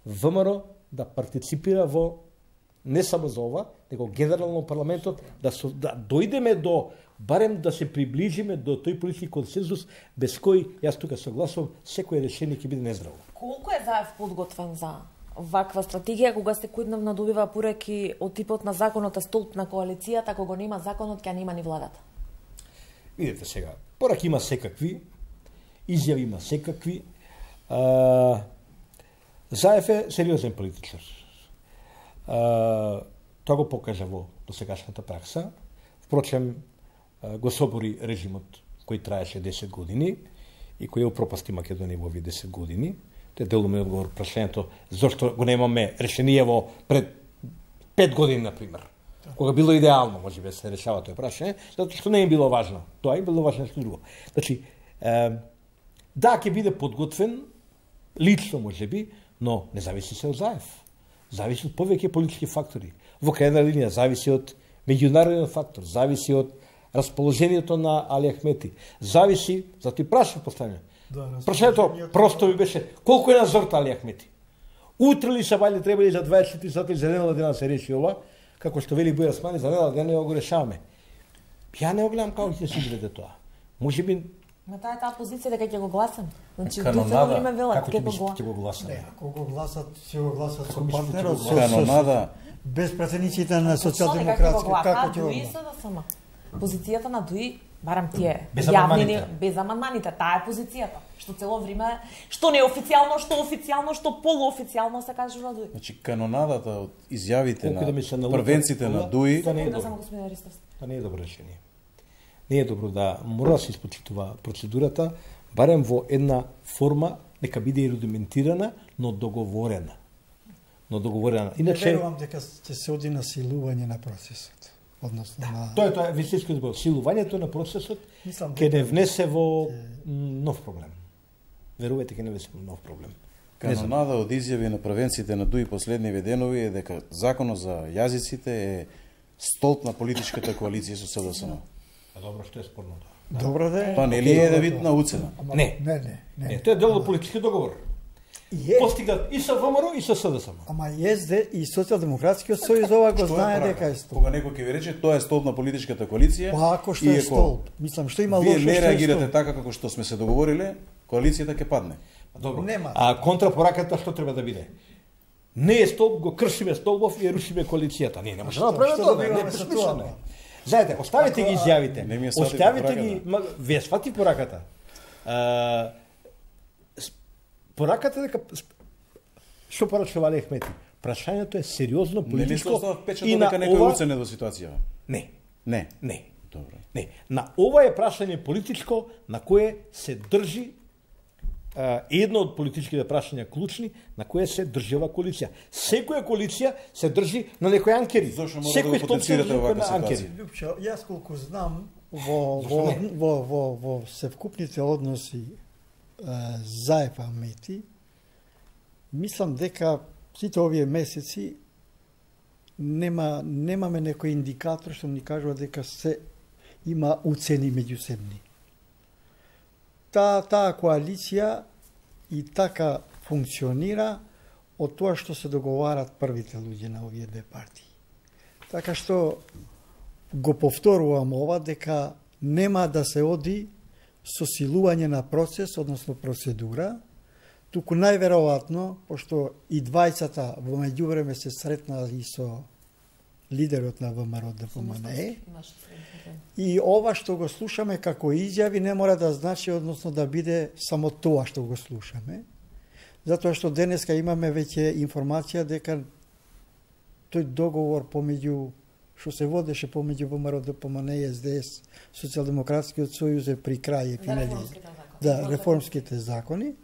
ВМРО да партиципира во не само за ова, него генерално парламентот, да, со, да дојдеме до, барем да се приближиме до тој политички консензус, без кој, јас тука согласувам, секој решение ќе биде нездраво. Колку е Заев подготвен за ваква стратегија, кога сте којдневно добива пореки од типот на законот е столб на коалицијата, ако го нема законот, ќе нема ни владата? Видете сега, пораки има секакви, изјави има секакви. А, Заев е сериозен политичар. А, тоа го покажа во досегашната пракса. Впрочем, го собори режимот кој траеше десет години и кој упропасти Македонија во овие десет години. Те делуме одговор прашањето зошто го немаме решение во пред пет години, например. Кога било идеално, може би се решава тоа прашање, затоа што не е било важно. Тоа е било важно што друго. Значи, е, да, ќе биде подготвен, лично може би, но не зависи се од Заев. Зависи од повеќе политички фактори. Во крајна линија зависи од меѓународен фактор, зависи од расположението на Али Ахмети. Зависи, за ти прашање поставање. Да, прашањето просто ми беше колку е назорта Али Ахмети. Утре ли са вали требали за дваесет и четири сати за недела дена се реши ова, како што вели Бојар Османи, за недела дена го решаваме. Ја не го гледам како ќе се изгледа тоа. Може би на таа е таа позиција дека ќе го гласам. Значи канонада, до време велат како ќе го гласам. Не, ако го гласат, ќе го гласат со партнерот, со канонада без пратениците на социјалдемократска, како ќе го гласат? Позицијата на ДУИ, барам тие јавни без амандманите, таа е позицијата. Што цело време, што не официјално, што официјално, што полуофицијално се кажува ДУИ. Значи канонадата од изјавите на да првенците на ДУИ, тоа не е добро. Тоа не е добро решение. Не е добро да мора да се испочитува процедурата, барем во една форма, нека биде и рудиментирана, но договорена. Но договорена. Иначе не верувам дека ќе се оди на силување на процесот. Односно да, на... Тоа е тоа, вистински збор. Силувањето на процесот ќе не внесе во нов проблем. Верувајте, ќе не внесе во нов проблем. Канонада од изјави на првенците на ДУИ последниви денови е дека законот за јазиците е столб на политичката коалиција со СДСМ. А добро, што е спорно тоа? Добро да е. Тоа нели е да вид на уцена? Не. Не, не, не. Не, тоа е дел од политички договор. Постигнат и со ВМРО и со СДСМ. Ама ЕСД и Социјалдемократскиот сојуз ова го знае дека е столб. Кога некој ќе ви рече тоа е столб на политичката коалиција, па ако што е столб, мислам што има лошо што е столб. Вие не реагирате така како што сме се договориле, коалицијата ќе падне. Добро. Нема. А контрапораката што треба да биде? Не е столб, го кршиме столбов и рушиме коалицијата. Не, не може да направиме тоа, не е бесмислено. Знаете, оставете ги изјавите. Оставете ги, вие свати пораката. Пораката дека што порачува Али Ахмети? Прашањето е сериозно политичко. Не мислам дека дека некој ова... уценет во ситуацијава. Не. Не. Не. Добро. Не. На ова е прашање политичко на кое се држи а, едно од политичките прашања клучни на кое се држи ова коалиција. Секоја коалиција се држи на некои анкери. Секој столб се држи на анкери. Лјупчо, јас колку знам во во во во, во севкупните односи Заев Ахмети, мислам дека сите овие месеци нема немаме некој индикатор што ни кажува дека се има уцени меѓусебни. Таа таа коалиција и така функционира од тоа што се договарат првите луѓе на овие две партии. Така што го повторувам ова дека нема да се оди со силување на процес, односно процедура, туку најверојатно, пошто и двајцата во меѓувреме се сретнаа и со лидерот на ВМРО Д П М Н Е, и ова што го слушаме како изјави не мора да значи, односно да биде само тоа што го слушаме, затоа што денеска имаме веќе информација дека тој договор помеѓу што се водеше помеѓу ВМРО Д П М Н и С Д С, Социјалдемократскиот сојуз е при крај е финализиран. Да, реформските закони.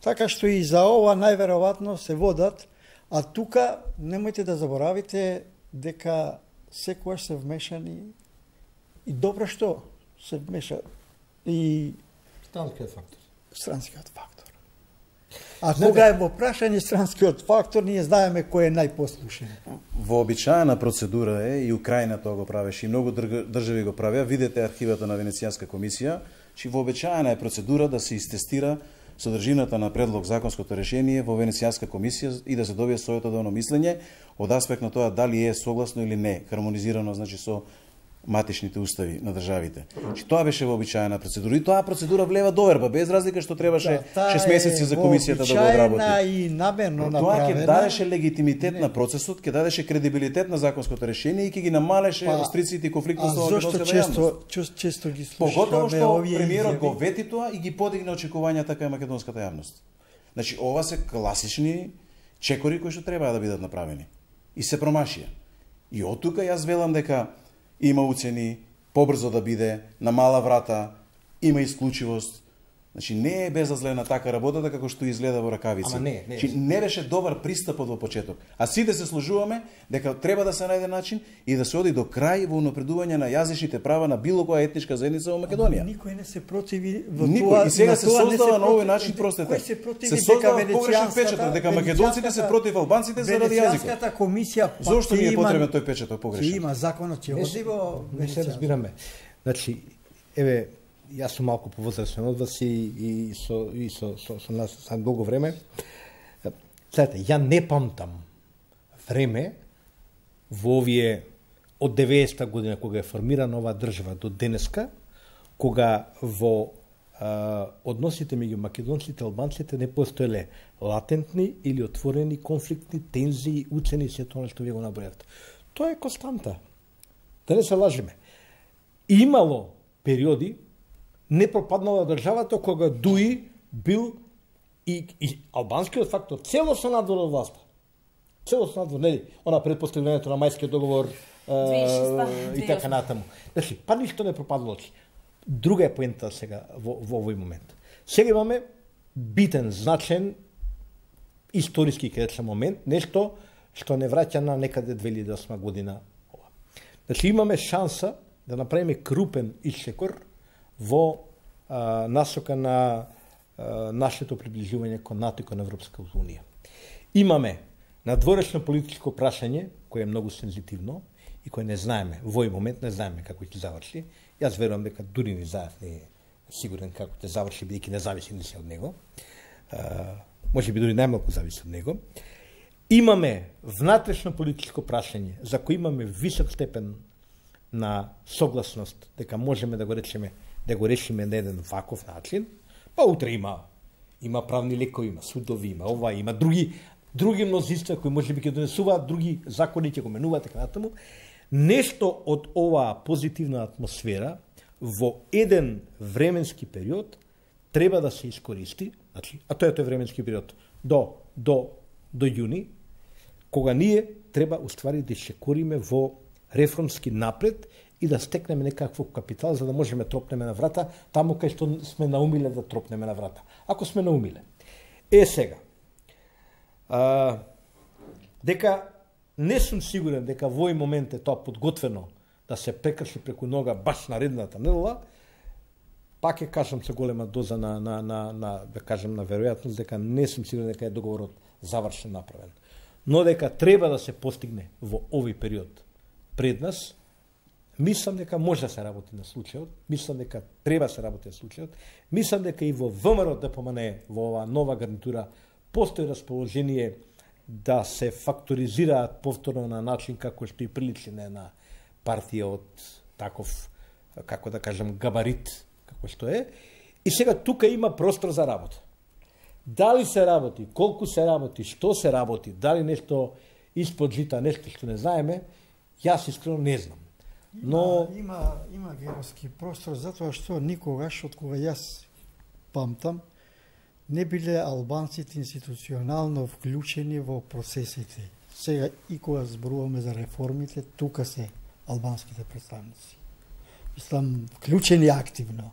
Така што и за ова најверојатно се водат, а тука немојте да заборавите дека секогаш се вмешани и добро што се вмеша и странскиот фактор. Странскиот фактор. А кога е во прашање странскиот фактор, ние знаеме кој е најпослушен. Вообичаена процедура е, и Украина тоа го правеше, и многу држави го правеа, видете архивата на Венецијанска комисија, че вообичаена е процедура да се истестира содржината на предлог законското решение во Венецијанска комисија и да се добие советодавно мислење од аспект на тоа дали е согласно или не, хармонизирано, значи, со матичните устави на државите. Че тоа беше вообичаена процедура. И тоа процедура влева доверба, без разлика што требаше да, шест месеци за комисијата да го одработи. И намерно тоа ќе дадеше легитимитет не. на процесот, ќе дадеше кредибилитет на законското решение и ќе ги намалеше па, рестрикциите и конфликтот со македонската јавност. Зошто често ги слушаме поготово што премиерот го вети тоа и ги подигна очекувањата кај македонската јавност. Значи, ова се класични чекори кои што треба да бидат направени. И се промашија. И од тука јас велам дека има уцени, побрзо да биде, на мала врата, има исклучивост. Значи, не е безазлена така работата како што изгледа во ракавици. Ама не, не. Значи, не беше добар пристапот во почеток. А сите се сложуваме дека треба да се најде начин и да се оди до крај во унапредување на јазичните права на било која етничка заедница во Македонија. Ама никој не се противи во Никој. тоа. И сега се создава на овој начин, простете. се, се создава погрешен печаток дека македонците се против албанците заради јазикот. Венецијанската комисија Зошто ни е потребен тој печаток погрешен? Има законот ќе оди во не се разбираме. Значи, еве, јас сум малку повозрасен од вас и, и, со, и со, со, со нас за долго време. Знаете, ја не памтам време во овие од деветдесета година кога е формирана оваа држава до денеска, кога во а, односите меѓу македонците и албанците не постоеле латентни или отворени конфликтни тензии, уцени се тоа што вие го набројавте. Тоа е константа. Да не се лажеме. Имало периоди не пропаднала државата кога Дуи бил и, и албанскиот фактор целосно надвор од власта. Целосно надвор, нели? Она пред постигнувањето на мајскиот договор е, и така натаму. Значи, па ништо не пропаднало. Друга е поента сега во, во овој момент. Сега имаме битен, значен историски кај момент, нешто што не враќа на некаде две илјади и осма година. Значи, имаме шанса да направиме крупен исчекор во а, насока на а, нашето приближување кон НАТО и кон Европска унија. Имаме надворешно политичко прашање, кое е многу сензитивно и кое не знаеме, во овој момент не знаеме како ќе заврши. Јас верувам дека дури ни заев не е сигурен како ќе заврши, бидејќи не зависи ни се од него. А, може би дури најмалку зависи од него. Имаме внатрешно политичко прашање за кој имаме висок степен на согласност дека можеме да го речеме да го решиме на еден ваков начин, па утре има има правни лекови, има судови, има ова, има други други мнозинства кои можеби ќе донесуваат други закони, ќе го менуваат така натаму. Нешто од оваа позитивна атмосфера во еден временски период треба да се искористи, значи, а тоа е тој временски период до до до јуни, кога ние треба уствари да шекориме во реформски напред и да стекнеме некаков капитал за да можеме тропнеме на врата таму кај што сме наумиле да тропнеме на врата. Ако сме наумиле. Е сега. А, дека не сум сигурен дека во овој момент е тоа подготвено да се прекрши преку нога баш наредната недела, пак ќе кажам со голема доза на, на, на, на да кажам на веројатност дека не сум сигурен дека е договорот завршен направен. Но дека треба да се постигне во овој период пред нас, мислам дека може да се работи на случајот, мислам дека треба да се работи на случајот, мислам дека и во ВМРО Д П М Н Е, во оваа нова гарнитура, постои расположение да се факторизираат повторно на начин како што и приличи на една партија од таков како да кажам, габарит, како што е, и сега тука има простор за работа. Дали се работи, колку се работи, што се работи, дали нешто испод жита, нешто што не знаеме, јас искрено не знам. Но има има, има геровски простор затоа што никогаш од кога јас памтам не биле албанците институционално вклучени во процесите. Сега и кога зборуваме за реформите, тука се албанските представници. Мислам, вклучени активно.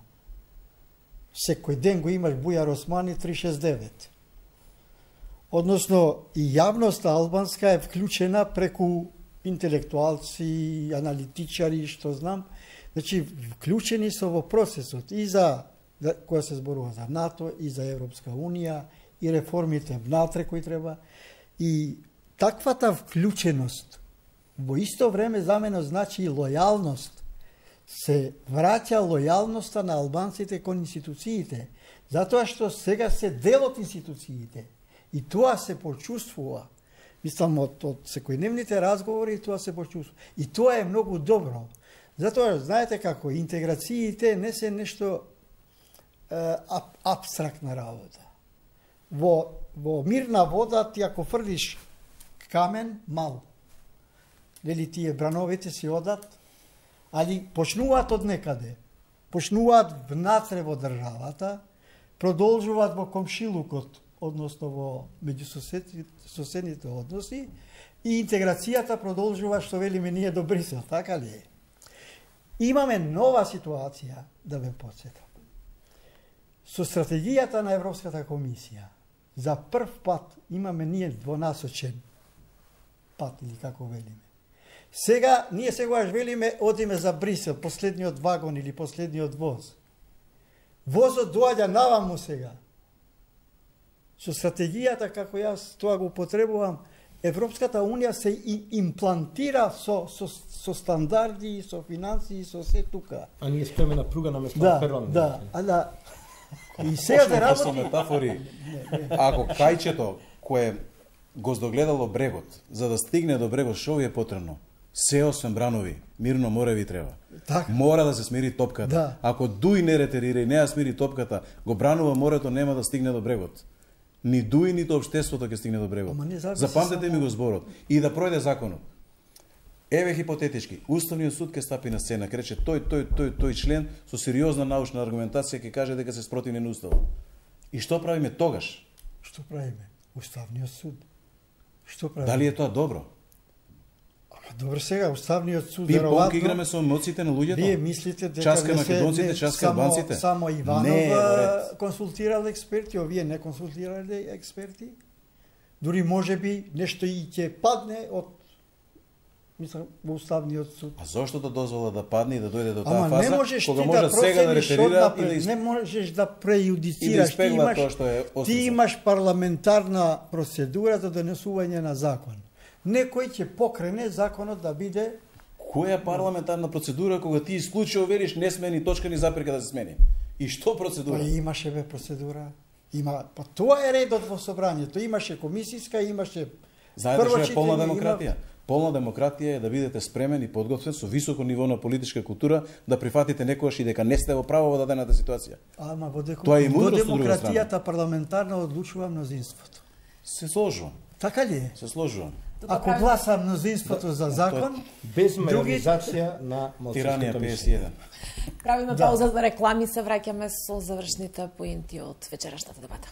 Секој ден го имаш Бујар Османи три шест девет. Односно, и јавноста албанска е вклучена преку интелектуалци, аналитичари, што знам. Значи, вклучени се во процесот и за која се зборува за НАТО, и за Европска Унија, и реформите внатре кои треба. И таквата вклученост во исто време за мене значи и лојалност. Се враќа лојалноста на албанците кон институциите, затоа што сега се дел од институциите. И тоа се почувствува. Мислам, од, од секојдневните разговори тоа се почувствува. И тоа е многу добро. Затоа, знаете како, интеграциите не се нешто е, аб, абстрактна работа. Во, во мирна вода ти ако фрлиш камен, мал. Дали тие брановите си одат, али почнуваат од некаде. Почнуваат внатре во државата, продолжуваат во комшилукот, односно во меѓусоседните односи, и интеграцијата продолжува, што велиме ние до Брисел, така ли е? Имаме нова ситуација, да ве подсетам. Со стратегијата на Европската комисија, за прв пат имаме ние двонасочен пат, или како велиме. Сега, ние сегаш велиме, одиме за Брисел, последниот вагон или последниот воз. Возот доаѓа наваму сега. Со стратегијата, како јас тоа го употребувам, Европската Унија се имплантира со, со, со стандарди, со финанси, со се тука. А ние спреме на пруга на место да, на Перлан. Да, а да. И сега да работи... Со метафори, ако кајчето кое го здогледало брегот, за да стигне до брегот, што ви е потребно? Се освен бранови, мирно море ви треба. Так. Мора да се смири топката. Да. Ако дуј не ретерира и не ја смири топката, го бранува морето, нема да стигне до брегот. Ни дуј, нито општеството ќе стигне до брегот. Запамтете ми го зборот. И да пројде законот. Еве хипотетички, Уставниот суд ќе стапи на сцена, ќе рече тој, тој, тој, тој член со сериозна научна аргументација ќе каже дека се спротивни на уставот. И што правиме тогаш? Што правиме? Уставниот суд. Што правиме? Дали е тоа добро? Добро, сега Уставниот суд веројатно играме со емоциите на луѓето. Вие мислите дека часка македонците, часка албанците? Само Иванов консултирал експерти, овие не консултирале експерти. Дури можеби нешто и ќе падне од мислам во Уставниот суд. А зошто да дозвола да падне и да дојде до таа Ама фаза, не можеш кога ти може да сега да ретерира и да из... из... не можеш да преюдицираш, и да испегла ти имаш, тоа што е ти имаш парламентарна процедура за донесување на закон. Некој ќе покрене законот да биде... Која парламентарна процедура кога ти исклучиво велиш не смени точка ни запирка да се смени? И што процедура? Па имаше бе процедура. Има, па тоа е редот во собранието. Имаше комисиска, имаше... Знаете што е полна демократија? Има... Полна демократија е да бидете спремен и подготвен со високо ниво на политичка култура да прифатите некогаш и дека не сте во право во дадената ситуација. Ама во, деку... Тоа е во демократијата парламентарна одлучува мнозинството. Се сложувам. Така ли е? Се сложувам. Ако гласа мнозинството да, за закон, без мајоризација на тиранија петдесет и еден. Правиме пауза за реклами, се враќаме со завршните поинти од вечерашната дебата.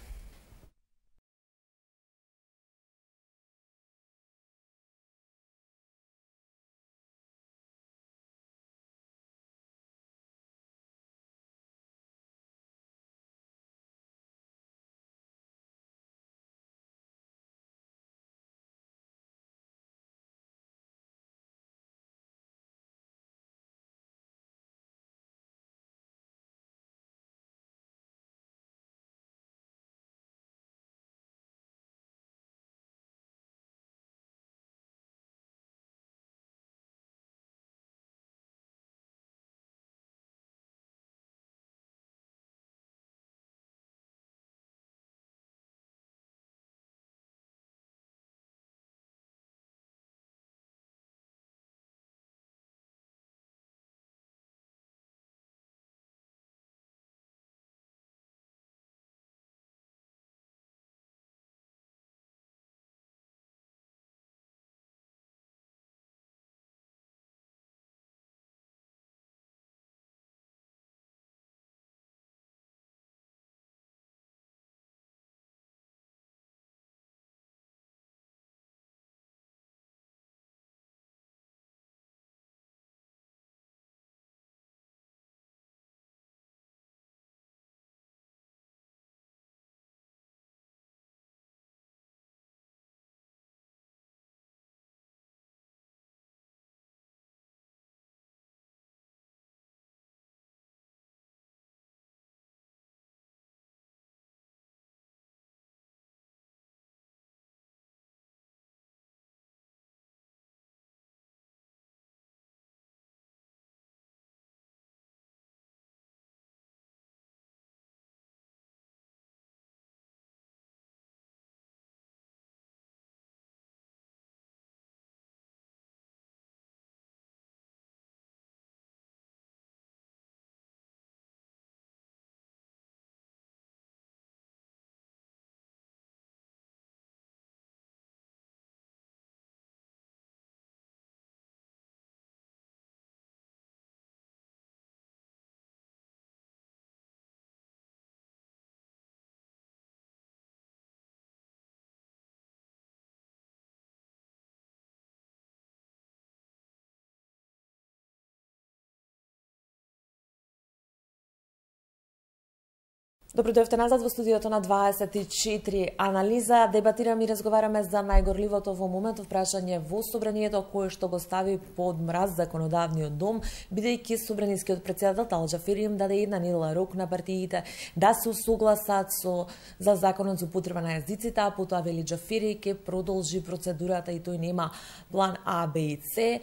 Добро дојдовте назад во студиото на дваесет и четири анализа. Дебатираме и разговараме за најгорливото во моментов прашање во собранието кое што го стави под мраз законодавниот дом, бидејќи собранискиот претседател Талат Џафери им даде една недела рок на партиите да се усогласат со за законот за употреба на јазиците, а потоа вели Џафери ќе продолжи процедурата и тој нема план А, Б и С.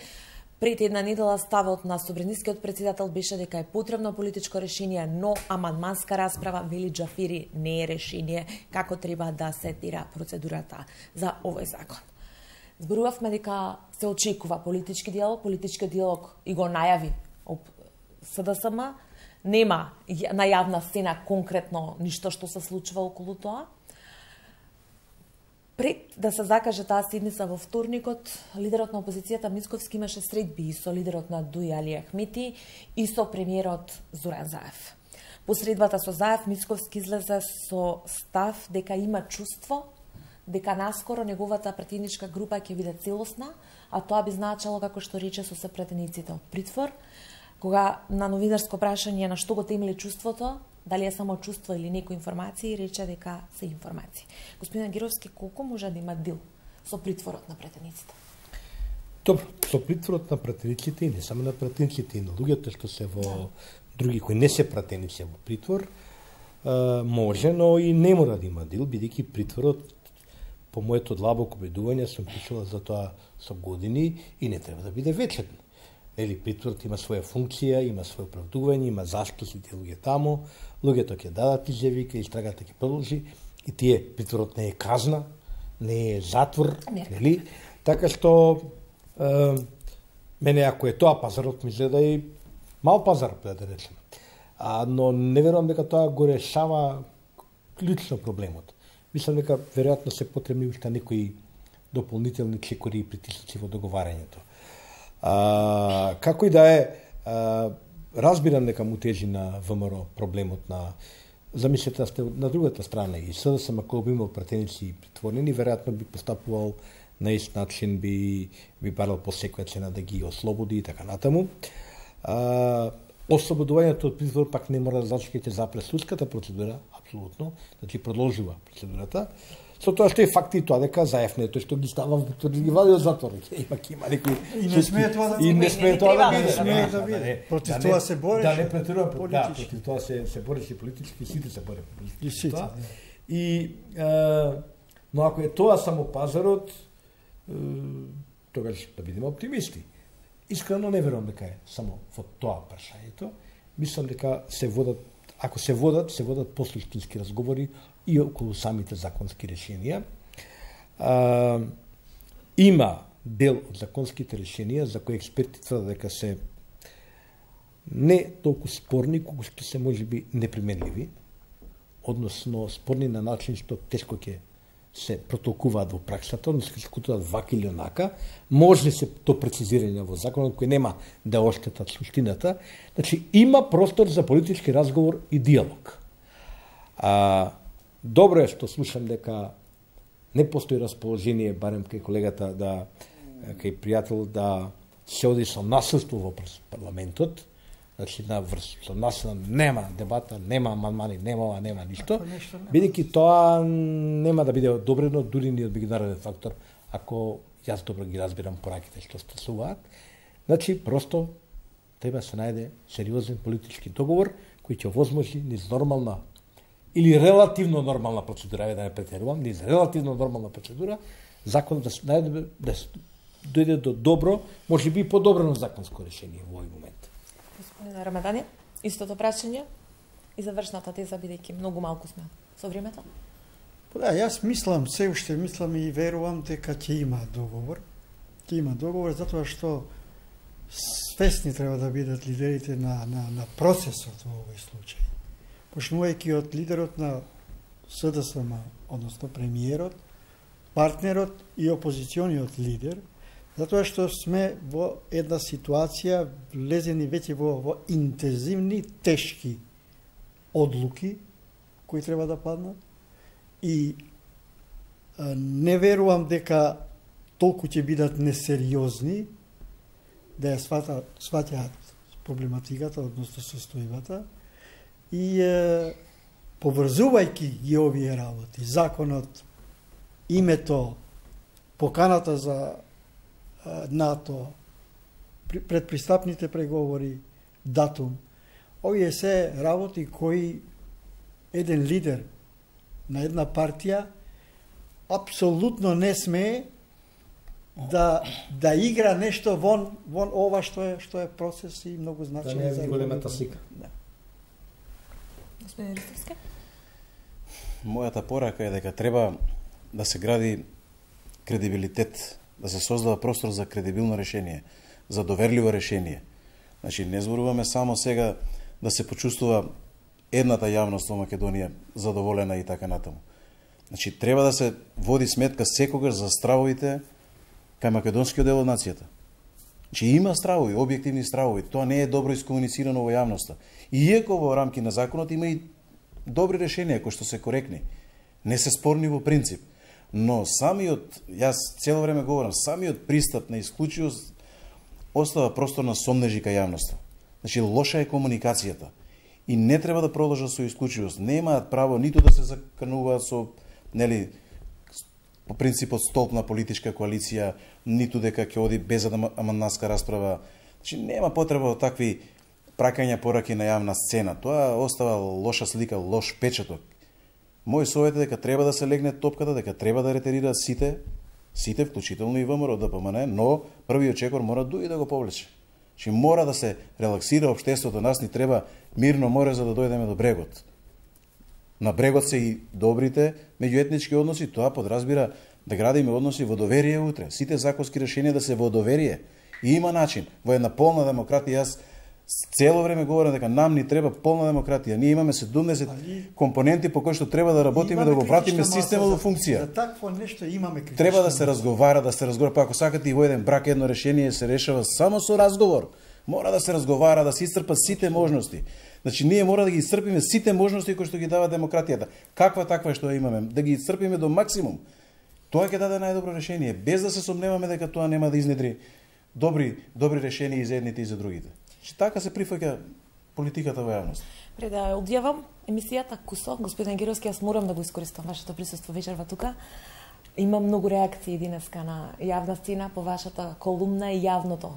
Пред една недела ставот на собранискиот претседател беше дека е потребно политичко решение, но амандманска расправа, вели Џафери, не е решение како треба да се тира процедурата за овој закон. Зборувавме дека се очекува политички диалог, политички диалог и го најави С Д С М, нема на јавна сцена конкретно ништо што се случува околу тоа. Пред да се закаже таа седница во вторникот, лидерот на опозицијата Мицковски имаше средби и со лидерот на Дуј Али Ахмети и со премиерот Зоран Заев. По средбата со Заев, Мицковски излезе со став дека има чувство дека наскоро неговата пратеничка група ќе биде целосна, а тоа би значело, како што рече, со се пратениците од притвор. Кога на новинарско прашање на што го темели чувството, дали е само чувство или некои информации, рече дека се информации. Господин Гировски, колку може да има дил со притворот на пратениците? Добро, со притворот на пратениците и не само на пратениците, и на луѓето што се во да. други кои не се пратеници во притвор, може, но и не мора да има дил, бидејќи притворот, по моето длабоко убедување, сум пишала за тоа со години и не треба да биде вечен. Нели, притворот има своја функција, има своје оправдување, има зашто се тие луѓе таму, луѓето ќе дадат изјави, ке истрагата ќе продолжи, и тие притворот не е казна, не е затвор, не. Нели? Така што е, мене ако е тоа пазарот ми изгледа и мал пазар, да речеме. А, но не верувам дека тоа го решава клучно проблемот. Мислам дека веројатно се потребни уште некои дополнителни чекори и притисоци во договарањето. А, како и да е, а, разбирам дека му тежи на В М Р проблемот на... Замислете да сте на другата страна и С Д С М, ако би имал пратеници притворени, веројатно би постапувал на ист начин, би, би барал по секоја цена да ги ослободи и така натаму. А, ослободувањето од притвор пак не мора да значи ќе запре судската процедура, апсолутно, значи продолжува процедурата. Со тоа што е факт и тоа дека Заев не е тој што ги става во притвор, ги вади од затвор. Имак има некои и не смее тоа да и не смее тоа да биде, не смее да биде. Против тоа се бореше. Да не претирувам политички. Да, против тоа се се бореше политички, сите се боре политички. И но ако е тоа само пазарот, тогаш да бидеме оптимисти. Искрено не верувам дека е само во тоа прашањето. Мислам дека се водат, ако се водат, се водат посуштински разговори и околу самите законски решенија. А, има дел од законските решенија за кои експерти тврдат дека се не толку спорни, колку што се можеби неприменливи, односно спорни на начин што тешко ќе се протолкуваат во праксата, односно ќе се кутуваат вака или онака, може се то прецизирање во законот кој нема да оштетат суштината. Значи има простор за политички разговор и диалог. А, добро е што слушам дека не постои расположение, барем кај колегата, да, кај пријател, да се оди со насилство во парламентот, значи на врз, со насилство нема дебата, нема амандмани, нема ова, нема ништо, бидејќи тоа нема да биде одобрено дури ни од меѓународен фактор, ако јас добро ги разбирам пораките што стасуваат. Значи, просто треба се најде сериозен политички договор кој ќе овозможи низ нормална или релативно нормална процедура, да не претерувам, низ релативно нормална процедура, закон да најде да дојде до добро, може би и подобрено законско решение во овој момент. Господин Рамадани, истото прашање и завршната теза, бидејќи многу малку сме со времето. Да, јас мислам, се уште мислам и верувам дека ќе има договор. Ќе има договор затоа што свесни треба да бидат лидерите на, на, на процесот во овој случај. Почнувајќи од лидерот на С Д С М, односно премиерот, партнерот и опозициониот лидер, затоа што сме во една ситуација влезени веќе во, во интензивни, тешки одлуки кои треба да паднат и а, не верувам дека толку ќе бидат несериозни да ја сваќаат проблематиката, односно состојбата и е, поврзувајќи ги овие работи, законот, името, поканата за НАТО, предпристапните преговори, датум, овие се работи кои еден лидер на една партија апсолутно не смее да да игра нешто вон вон ова што е што е процес и многу значаен да, за големата слика. Да. Господин Ристовски? Мојата порака е дека треба да се гради кредибилитет, да се создава простор за кредибилно решение, за доверливо решение. Значи, не зборуваме само сега да се почувствува едната јавност во Македонија задоволена и така натаму. Значи, треба да се води сметка секогаш за стравовите кај македонскиот дел од нацијата. Значи, има стравови, објективни стравови, тоа не е добро искомуницирано во јавноста. И иако во рамки на законот има и добри решенија кои што се коректни, не се спорни во принцип, но самиот, јас цело време говорам, самиот пристап на исклучивост остава простор на сомнежи кај јавноста. Значи, лоша е комуникацијата и не треба да продолжат со исклучивост. Немаат право ниту да се закануваат со, нели, по принципот столб на политичка коалиција, ниту дека ќе оди без амандманска расправа. Значи, нема потреба од такви пракања пораки на јавна сцена. Тоа остава лоша слика, лош печаток. Мој совет е дека треба да се легне топката, дека треба да ретерираат сите, сите, вклучително и ВМРО, да помане, но првиот чекор мора дуи да го повлече. Значи, мора да се релаксира општеството, нас ни треба мирно море за да дојдеме до брегот. На брегот се и добрите меѓуетнички односи, тоа подразбира да градиме односи во доверие утре. Сите законски решенија да се во доверие. И има начин. Во една полна демократија, јас цело време говорам дека нам ни треба полна демократија. Ние имаме седумдесет Али... компоненти по кои што треба да работиме, да го вратиме системот во функција. За такво нешто имаме критична. Треба да се разговара, да се разговара, па ако сакате и во еден брак едно решение се решава само со разговор. Мора да се разговара, да се исцрпат сите можности. Значи, ние мора да ги исцрпиме сите можности кои што ги дава демократијата. Каква таква што имаме, да ги исцрпиме до максимум. Тоа ќе даде најдобро решение, без да се сомневаме дека тоа нема да изнедри добри добри решенија и за едните и за другите. Значи, така се прифаќа политиката во јавност. Пред да ја одјавам емисијата Кусо, господин Гировски, јас морам да го искористам вашето присуство вечерва тука. Има многу реакции денеска на јавна сцена по вашата колумна и јавното.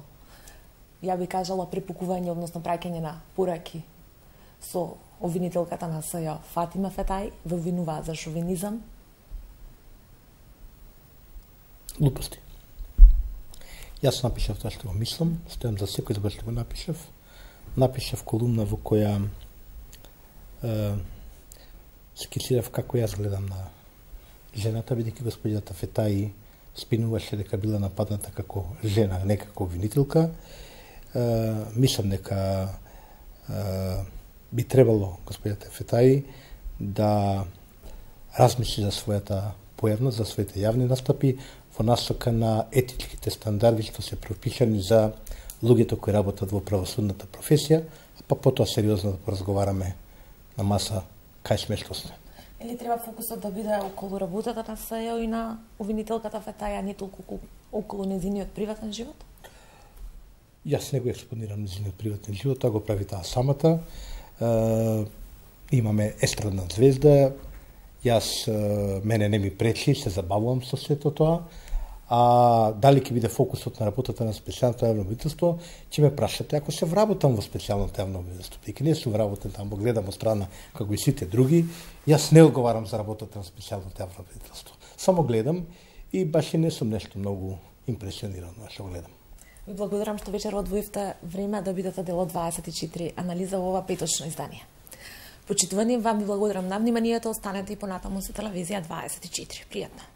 Ја би кажала препукување, односно праќање на пораки со обвинителката на СЈО Фатима Фетај, ве обвинуваат за шовинизам. Глупости. Јас напишав тоа што го мислам, стојам за секој збор што го напишав. Напишав колумна во која е, скицирав како јас гледам на жената, бидејќи господината Фетај спинуваше дека била нападната како жена, не како обвинителка. Е, мислам дека е, би требало господината Фетај да размисли за својата појавност, за своите јавни настапи во насока на етичките стандарди што се пропишани за луѓето кои работат во правосудната професија, па потоа сериозно да поразговараме на маса кај сме што сме. Или треба фокусот да биде околу работата на СЈО и на обвинителката Фетај, а не толку околу нејзиниот приватен живот? Јас не го експонирам нејзиниот приватен живот, тоа го прави таа самата. Е, имаме естрадна звезда, јас, е, мене не ми пречи, се забавувам со сето тоа, а дали ќе биде фокусот на работата на специјалното јавно обвинителство, ќе ме прашате ако се вработам во специјалното јавно обвинителство. Дека не сум вработен таму, гледам од страна како и сите други, јас не одговарам за работата на специјалното јавно обвинителство. Само гледам и баш и не сум нешто многу импресиониран што гледам. Ви благодарам што вечер одвоивте време да бидете дел од дваесет и четири анализа во ова петочно издание. Почитувани, вам ви благодарам на вниманието, останете и понатаму со телевизија дваесет и четири. Пријатно.